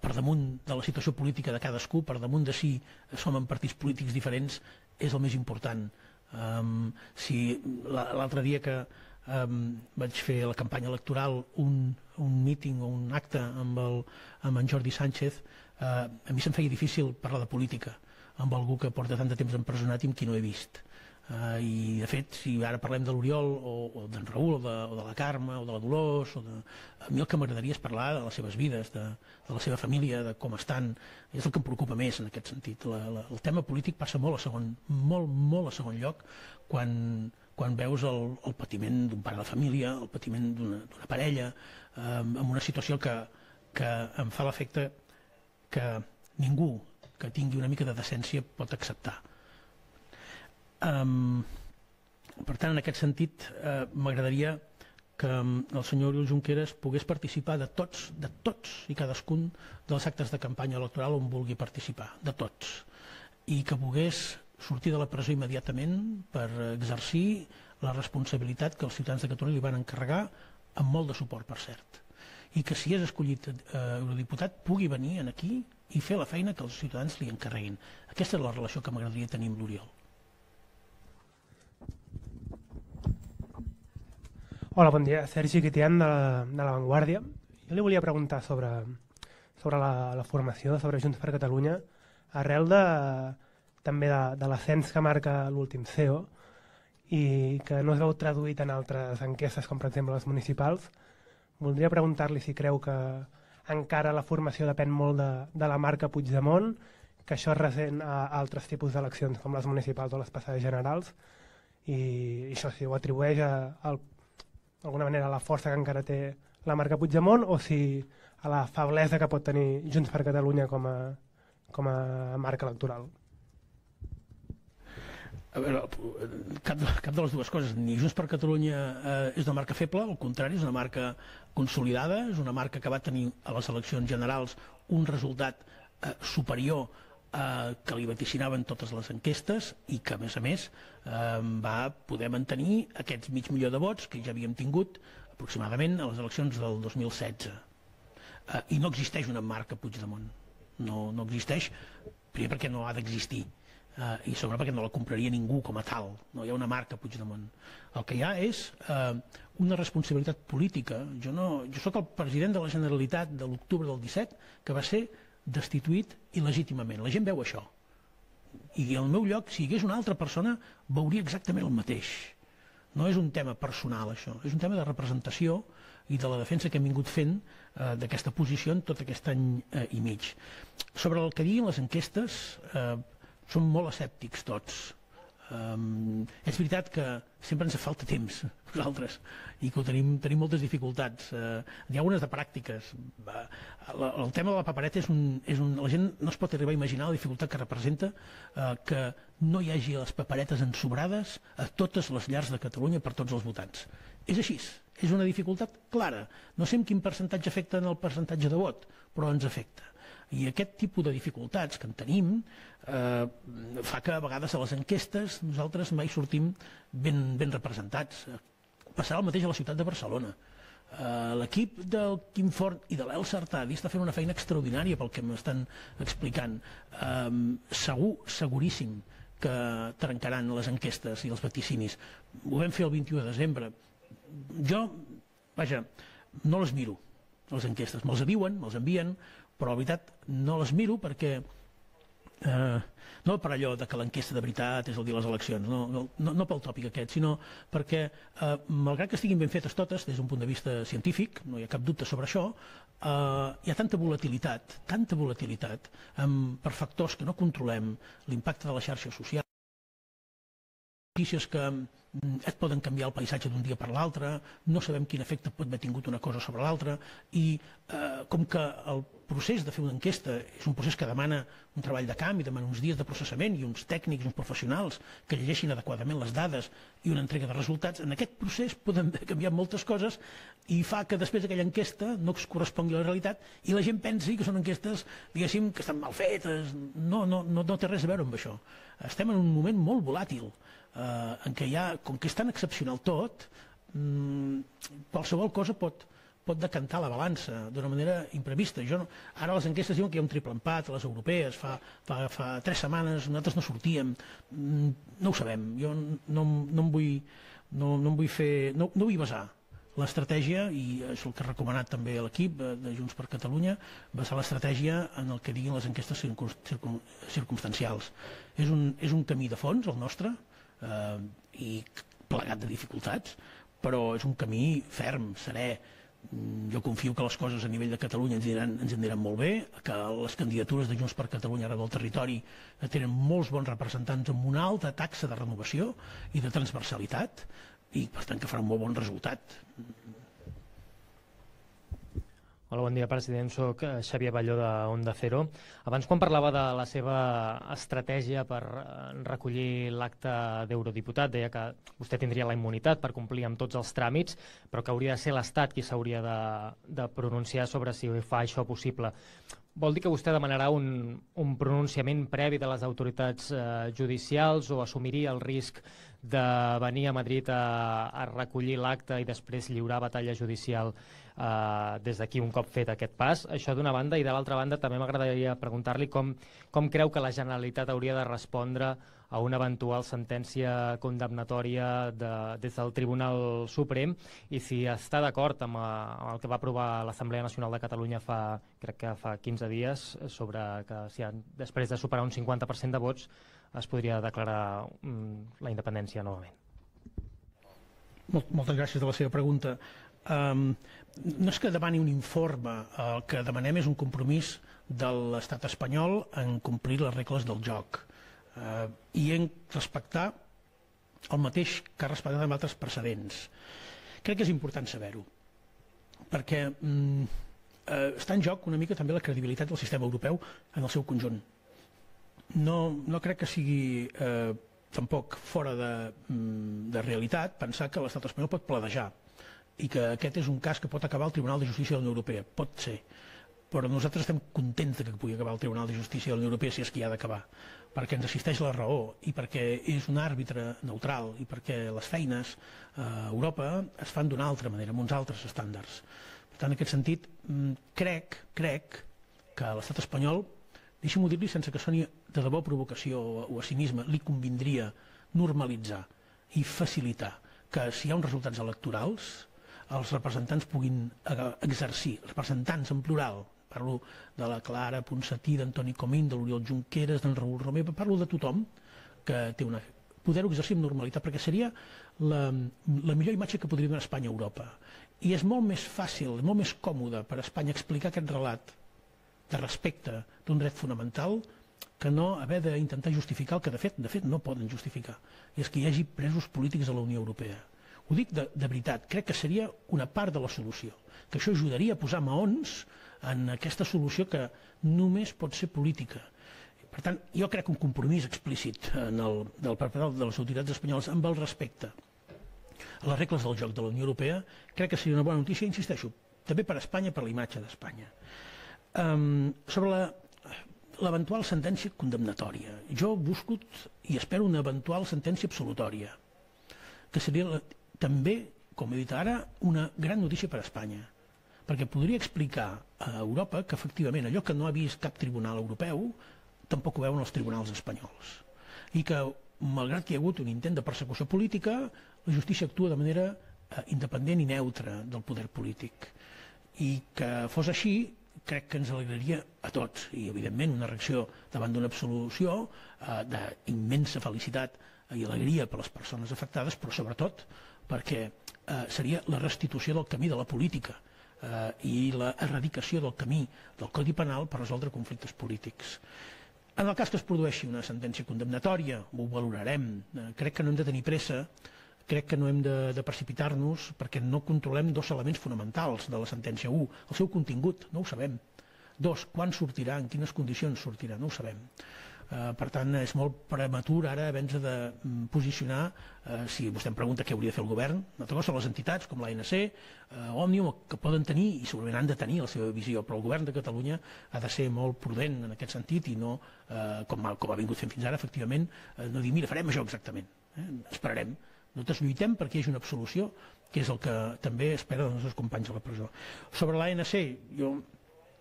per damunt de la situació política de cadascú, per damunt de si som en partits polítics diferents, és el més important. L'altre dia que vaig fer a la campanya electoral un míting o un acte amb en Jordi Sánchez, a mi se'm feia difícil parlar de política amb algú que porta tant de temps empresonat i amb qui no he vist. I de fet, si ara parlem de l'Oriol o d'en Raül o de la Carme o de la Dolors, a mi el que m'agradaria és parlar de les seves vides, de la seva família, de com estan. És el que em preocupa més en aquest sentit. El tema polític passa molt a segon lloc quan veus el patiment d'un pare de família, el patiment d'una parella, en una situació que em fa l'efecte que ningú que tingui una mica de decència pot acceptar. Per tant, en aquest sentit, m'agradaria que el senyor Oriol Junqueras pogués participar de tots i cadascun dels actes de campanya electoral on vulgui participar, de tots, i que pogués sortir de la presó immediatament per exercir la responsabilitat que els ciutadans de Catalunya li van encarregar, amb molt de suport, per cert, i que si és escollit eurodiputat pugui venir aquí i fer la feina que els ciutadans li encarreguin. Aquesta és la relació que m'agradaria tenir amb l'Oriol. Hola, bon dia. Sergi Guitián, de La Vanguardia. Jo li volia preguntar sobre la formació sobre Junts per Catalunya, arrel també de l'ascens que marca l'últim CEO i que no es veu traduït en altres enquestes, com per exemple les municipals. Voldria preguntar-li si creu que encara la formació depèn molt de la marca Puigdemont, que això es ressent a altres tipus d'eleccions, com les municipals o les passades generals, i això si ho atribueix d'alguna manera a la força que encara té la marca Puigdemont o si a la feblesa que pot tenir Junts per Catalunya com a marca electoral. A veure, cap de les dues coses. Ni Junts per Catalunya és una marca feble, al contrari, és una marca consolidada, és una marca que va tenir a les eleccions generals un resultat superior que li vaticinaven totes les enquestes i que, a més, va poder mantenir aquests mig milió de vots que ja havíem tingut aproximadament a les eleccions del 2016. I no existeix una marca Puigdemont. No existeix, primer perquè no ha d'existir i segon perquè no la compraria ningú com a tal. No hi ha una marca Puigdemont. El que hi ha és una responsabilitat política. Jo soc el president de la Generalitat de l'octubre del 17 que va ser destituït il·legítimament. La gent veu això. I al meu lloc, si hi hagués una altra persona, veuria exactament el mateix. No és un tema personal, això. És un tema de representació i de la defensa que hem vingut fent d'aquesta posició en tot aquest any i mig. Sobre el que diguin les enquestes, som molt escèptics tots. És veritat que sempre ens falta temps, nosaltres, i que tenim moltes dificultats. N'hi ha unes de pràctiques. El tema de la papereta la gent no es pot arribar a imaginar la dificultat que representa que no hi hagi les paperetes ensobrades a totes les llars de Catalunya per tots els votants. És així, és una dificultat clara. No sé en quin percentatge afecta en el percentatge de vot, però ens afecta. I aquest tipus de dificultats que en tenim fa que a vegades a les enquestes nosaltres mai sortim ben representats. Passarà el mateix a la ciutat de Barcelona. L'equip del Quim Forn i de l'Elsa Artadi està fent una feina extraordinària pel que m'estan explicant. Seguríssim que trencaran les enquestes i els vaticinis. Ho vam fer el 21 de desembre. Jo, vaja, no les miro, les enquestes. Me'ls diuen, me'ls envien, però la veritat no les miro perquè no per allò de que l'enquesta de veritat és el dia de les eleccions, no pel tòpic aquest, sinó perquè malgrat que estiguin ben fetes totes des d'un punt de vista científic, no hi ha cap dubte sobre això, hi ha tanta volatilitat per factors que no controlem, l'impacte de la xarxa social, notícies que et poden canviar el paisatge d'un dia per l'altre, no sabem quin efecte pot haver tingut una cosa sobre l'altra, i com que el procés de fer una enquesta és un procés que demana un treball de camp i demana uns dies de processament i uns tècnics, uns professionals que llegeixin adequadament les dades i una entrega de resultats, en aquest procés poden canviar moltes coses i fa que després d'aquella enquesta no es correspongui a la realitat i la gent pensi que són enquestes, diguéssim, que estan mal fetes. No té res a veure amb això. Estem en un moment molt volàtil en què com que és tan excepcional tot, qualsevol cosa pot decantar la balança d'una manera imprevista. Ara les enquestes diuen que hi ha un triple empat a les europees, fa 3 setmanes nosaltres no sortíem, no ho sabem. Jo no vull basar l'estratègia, i és el que ha recomanat també l'equip de Junts per Catalunya, basar l'estratègia en el que diguin les enquestes circumstancials. És un camí de fons, el nostre, i plegat de dificultats, però és un camí ferm, serè. Jo confio que les coses a nivell de Catalunya ens aniran molt bé, que les candidatures de Junts per Catalunya arreu del territori tenen molts bons representants amb una alta taxa de renovació i de transversalitat, i per tant que farà un molt bon resultat. Hola, bon dia, president. Soc Xavier Balló de Onda Cero. Abans, quan parlava de la seva estratègia per recollir l'acte d'eurodiputat, deia que vostè tindria la immunitat per complir amb tots els tràmits, però que hauria de ser l'Estat qui s'hauria de pronunciar sobre si fa això possible. Vol dir que vostè demanarà un pronunciament previ de les autoritats judicials o assumiria el risc de venir a Madrid a recollir l'acte i després lliurar batalla judicial des d'aquí un cop fet aquest pas? Això d'una banda, i de l'altra banda també m'agradaria preguntar-li com creu que la Generalitat hauria de respondre a una eventual sentència condemnatòria des del Tribunal Suprem, i si està d'acord amb el que va aprovar l'Assemblea Nacional de Catalunya crec que fa 15 dies, sobre que després de superar un 50% de vots es podria declarar la independència novament. Moltes gràcies de la seva pregunta. No és que demani un informe, el que demanem és un compromís de l'estat espanyol en complir les regles del joc i en respectar el mateix que ha respectat amb altres precedents. Crec que és important saber-ho, perquè està en joc una mica també la credibilitat del sistema europeu en el seu conjunt. No crec que sigui tampoc fora de realitat pensar que l'estat espanyol pot planejar i que aquest és un cas que pot acabar al Tribunal de Justícia de la Unió Europea. Pot ser, però nosaltres estem contents que pugui acabar al Tribunal de Justícia de la Unió Europea si és que hi ha d'acabar, perquè ens assisteix la raó i perquè és un àrbitre neutral i perquè les feines a Europa es fan d'una altra manera, amb uns altres estàndards. Per tant, en aquest sentit, crec que l'estat espanyol, deixi'm-ho dir-li sense que soni de debò provocació o a cinisme, li convindria normalitzar i facilitar que si hi ha uns resultats electorals els representants puguin exercir, representants en plural parlo de la Clara Ponsatí, d'Antoni Comín, de l'Oriol Junqueras, d'en Raül Romeva, parlo de tothom que té una... poder-ho exercir amb normalitat, perquè seria la millor imatge que podria donar Espanya a Europa. I és molt més fàcil, molt més còmode per a Espanya explicar aquest relat de respecte d'un dret fonamental que no haver d'intentar justificar el que de fet no poden justificar, i és que hi hagi presos polítics a la Unió Europea. Ho dic de veritat, crec que seria una part de la solució, que això ajudaria a posar maons en aquesta solució que només pot ser política. Per tant, jo crec que un compromís explícit del part de les autoritats espanyoles amb el respecte a les regles del joc de la Unió Europea, crec que seria una bona notícia, insisteixo, també per a Espanya, per la imatge d'Espanya. Sobre l'eventual sentència condemnatòria, jo busco i espero una eventual sentència absolutòria, que seria també, com he dit ara, una gran notícia per a Espanya, perquè podria explicar a Europa que efectivament allò que no ha vist cap tribunal europeu tampoc ho veuen els tribunals espanyols, i que malgrat que hi ha hagut un intent de persecució política, la justícia actua de manera independent i neutra del poder polític, i que fos així crec que ens alegraria a tots, i evidentment una reacció davant d'una absolució d'immensa felicitat i alegria per a les persones afectades, però sobretot perquè seria la restitució del camí de la política i l'erradicació del camí del Codi Penal per resoldre conflictes polítics. En el cas que es produeixi una sentència condemnatòria, ho valorarem. Crec que no hem de tenir pressa, crec que no hem de precipitar-nos, perquè no controlem dos elements fonamentals de la sentència. Un, el seu contingut, no ho sabem. Dos, quan sortirà, en quines condicions sortirà, no ho sabem. Per tant, és molt prematur ara haver-nos de posicionar, si vostè em pregunta què hauria de fer el govern, una altra cosa són les entitats com l'ANC, Òmnium, que poden tenir i segurament han de tenir la seva visió, però el govern de Catalunya ha de ser molt prudent en aquest sentit i no, com ha vingut fent fins ara, efectivament, no dir, mira, farem això exactament, esperarem. Nosaltres lluitem perquè hi hagi una absolució, que és el que també espera dels nostres companys a la presó. Sobre l'ANC, jo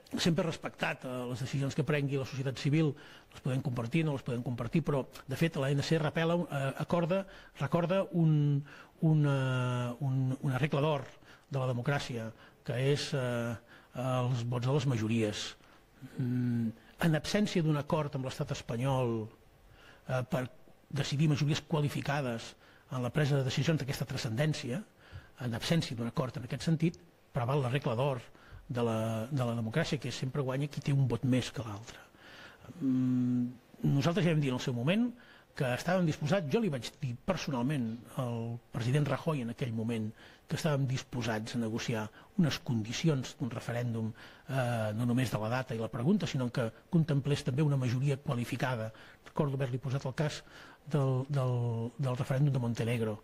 sempre he respectat les decisions que prengui la societat civil, les podem compartir, no les podem compartir, però de fet l'ANC recorda una regla d'or de la democràcia, que és els vots de les majories. En absència d'un acord amb l'estat espanyol per decidir majories qualificades en la presa de decisions d'aquesta transcendència, en absència d'un acord en aquest sentit, preval la regla d'or de la democràcia, que sempre guanya qui té un vot més que l'altre. Nosaltres ja vam dir en el seu moment que estàvem disposats, jo li vaig dir personalment al president Rajoy en aquell moment, que estàvem disposats a negociar unes condicions d'un referèndum, no només de la data i la pregunta, sinó que contemplés també una majoria qualificada. Recordo haver-li posat el cas del referèndum de Montenegro.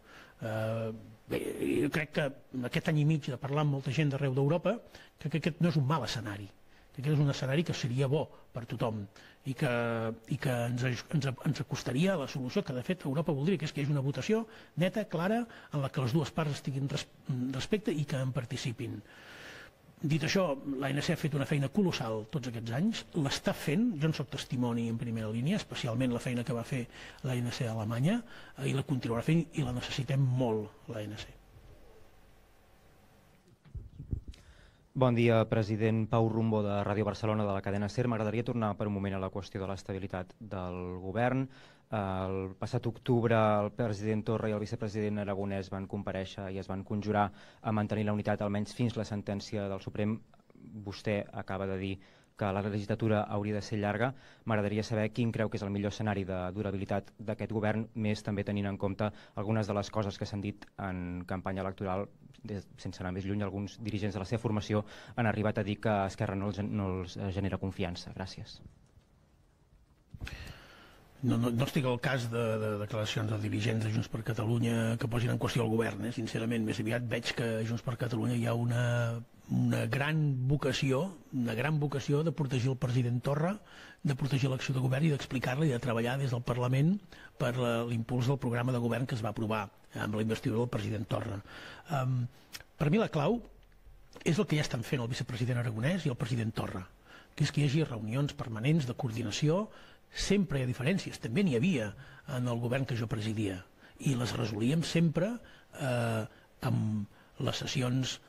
Bé, jo crec que en aquest any i mig de parlar amb molta gent d'arreu d'Europa, crec que aquest no és un mal escenari, que aquest és un escenari que seria bo per tothom i que ens acostaria a la solució que de fet Europa voldria, que és que hi hagi una votació neta, clara, en la que les dues parts estiguin respecte i que en participin. Dit això, l'ANC ha fet una feina colossal tots aquests anys, l'està fent, jo en soc testimoni en primera línia, especialment la feina que va fer l'ANC a Alemanya, i la continuarà fent i la necessitem molt, l'ANC. Bon dia, president. Pau Rumbo, de Ràdio Barcelona, de la cadena SER. M'agradaria tornar per un moment a la qüestió de l'estabilitat del govern. El passat octubre el president Torra i el vicepresident Aragonès van comparèixer i es van conjurar a mantenir la unitat almenys fins la sentència del Suprem. Vostè acaba de dir que la legislatura hauria de ser llarga. M'agradaria saber quin creu que és el millor escenari de durabilitat d'aquest govern, més també tenint en compte algunes de les coses que s'han dit en campanya electoral, sense anar més lluny, alguns dirigents de la seva formació han arribat a dir que Esquerra no els genera confiança. Gràcies. No estic al cas de declaracions de dirigents de Junts per Catalunya que posin en qüestió el govern, sincerament. Més aviat veig que a Junts per Catalunya hi ha una gran vocació de protegir el president Torra, de protegir l'acció de govern i d'explicar-la i de treballar des del Parlament per l'impuls del programa de govern que es va aprovar amb la investidura del president Torra. Per mi la clau és el que ja estan fent el vicepresident Aragonès i el president Torra, que és que hi hagi reunions permanents de coordinació. Sempre hi ha diferències, també n'hi havia en el govern que jo presidia, i les resolíem sempre amb les sessions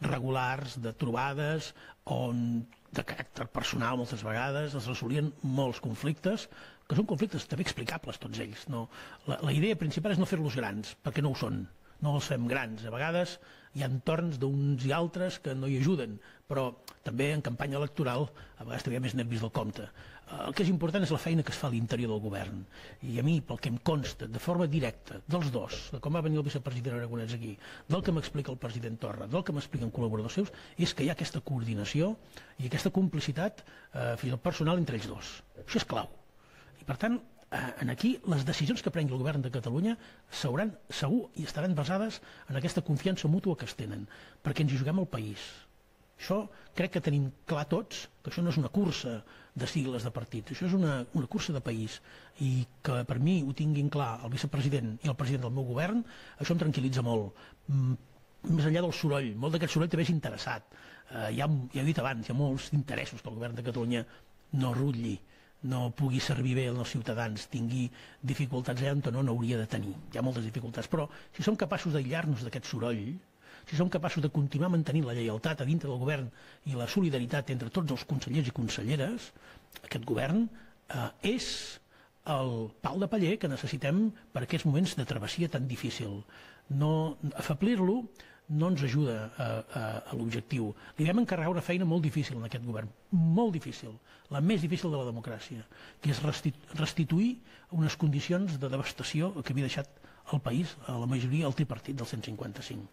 regulars, de trobades, on de caràcter personal moltes vegades es resolien molts conflictes, que són conflictes també explicables tots ells. La idea principal és no fer-los grans, perquè no ho són, no els fem grans. A vegades hi ha entorns d'uns i altres que no hi ajuden, però també en campanya electoral a vegades també hi ha més nervis del compte. El que és important és la feina que es fa a l'interior del govern. I a mi, pel que em consta, de forma directa, dels dos, de com va venir el vicepresident Aragonès aquí, del que m'explica el president Torra, del que m'expliquen col·laboradors seus, és que hi ha aquesta coordinació i aquesta complicitat fins al personal entre ells dos. Això és clau. I per tant, aquí les decisions que prengui el govern de Catalunya segur i estaran basades en aquesta confiança mútua que es tenen, perquè ens hi juguem el país. Això crec que tenim clar tots, que això no és una cursa de sigles de partits, això és una cursa de país, i que per mi ho tinguin clar el vicepresident i el president del meu govern, això em tranquil·litza molt. Més enllà del soroll, molt d'aquest soroll també és interessat. Ja he dit abans, hi ha molts interessos que el govern de Catalunya no rutlli, no pugui servir bé als ciutadans, tingui dificultats on no n'hauria de tenir. Hi ha moltes dificultats, però si som capaços d'aïllar-nos d'aquest soroll, si som capaços de continuar mantenint la lleialtat a dintre del govern i la solidaritat entre tots els consellers i conselleres, aquest govern és el pal de paller que necessitem per aquests moments de travessia tan difícil. Afeblir-lo no ens ajuda a l'objectiu. Li vam encarregar una feina molt difícil en aquest govern, molt difícil, la més difícil de la democràcia, que és restituir unes condicions de devastació que havia deixat el país, a la majoria, el tripartit del 155.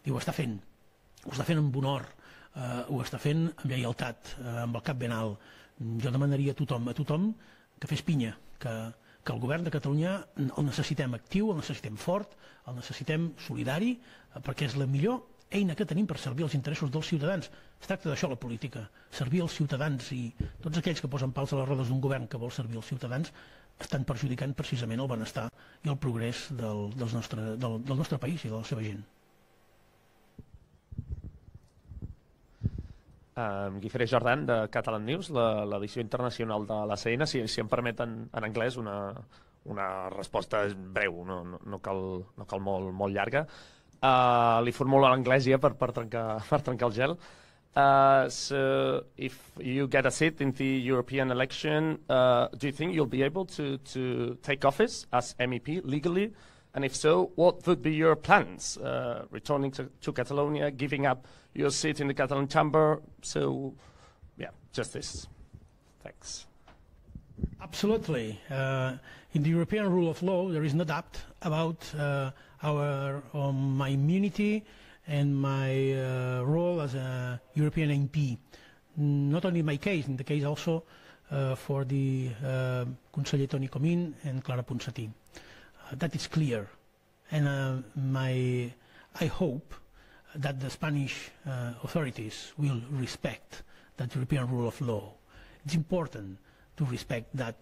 I ho està fent amb honor, ho està fent amb lleialtat, amb el cap ben alt. Jo demanaria a tothom que fes pinya, que el govern de Catalunya el necessitem actiu, el necessitem fort, el necessitem solidari, perquè és la millor eina que tenim per servir els interessos dels ciutadans. Es tracta d'això, la política, servir els ciutadans, i tots aquells que posen pals a les rodes d'un govern que vol servir els ciutadans estan perjudicant precisament el benestar i el progrés del nostre país i de la seva gent. Guifré Jordan, de Catalan News, l'edició internacional de l'ACN. Si em permeten en anglès una resposta breu, no cal molt llarga. Li formulo en anglès ja per trencar el gel. So if you get a seat in the European election, do you think you'll be able to take office as MEP legally? And if so, what would be your plans? Returning to Catalonia, giving up your seat in the Catalan chamber? So, yeah, just this. Thanks. Absolutely. In the European rule of law, there is no doubt about my immunity and my role as a European MP. Not only in my case, in the case also for the Conseller Toni Comín and Clara Ponsatí. That is clear, and I hope that the Spanish authorities will respect that European rule of law. It's important to respect that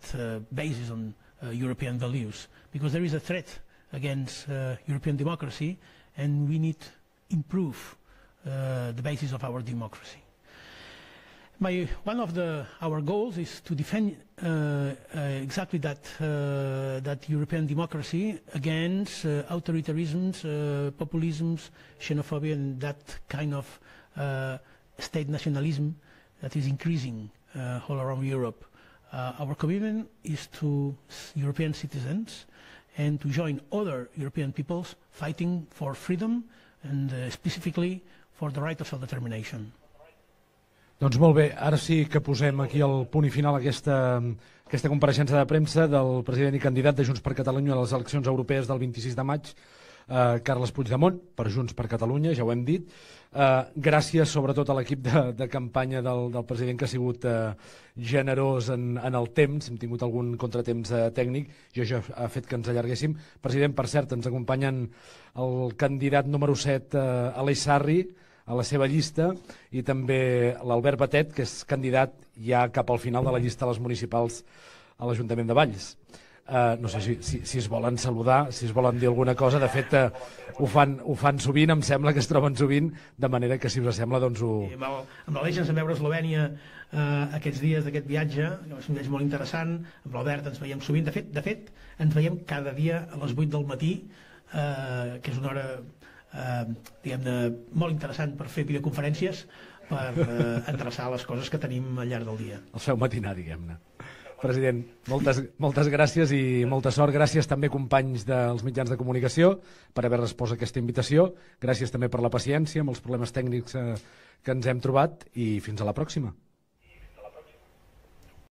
basis on European values, because there is a threat against European democracy, and we need to improve the basis of our democracy. One of our goals is to defend exactly that European democracy against authoritarianisms, populisms, xenophobia, and that kind of state nationalism that is increasing all around Europe. Our commitment is to European citizens and to join other European peoples fighting for freedom and specifically for the right of self-determination. Doncs molt bé, ara sí que posem aquí el punt i final a aquesta compareixença de premsa del president i candidat de Junts per Catalunya a les eleccions europees del 26 de maig, Carles Puigdemont, per Junts per Catalunya, ja ho hem dit. Gràcies sobretot a l'equip de campanya del president, que ha sigut generós en el temps. Hem tingut algun contratemps tècnic i això ha fet que ens allarguéssim. President, per cert, ens acompanyen el candidat número 7, Aleix Sarri, a la seva llista, i també l'Albert Batet, que és candidat ja cap al final de la llista a les municipals a l'Ajuntament de Valls. No sé si es volen saludar, si es volen dir alguna cosa. De fet, ho fan sovint, em sembla que es troben sovint, de manera que, si us sembla, doncs ho... Amb l'Aleix ens vam veure a Eslovènia aquests dies d'aquest viatge, que va ser un viatge molt interessant. Amb l'Albert ens veiem sovint. De fet, ens veiem cada dia a les 8 del matí, que és una hora diguem-ne, molt interessant per fer videoconferències, per endreçar les coses que tenim al llarg del dia. El feu matinar, diguem-ne. President, moltes gràcies i molta sort. Gràcies també, companys dels mitjans de comunicació, per haver respost a aquesta invitació. Gràcies també per la paciència amb els problemes tècnics que ens hem trobat i fins a la pròxima.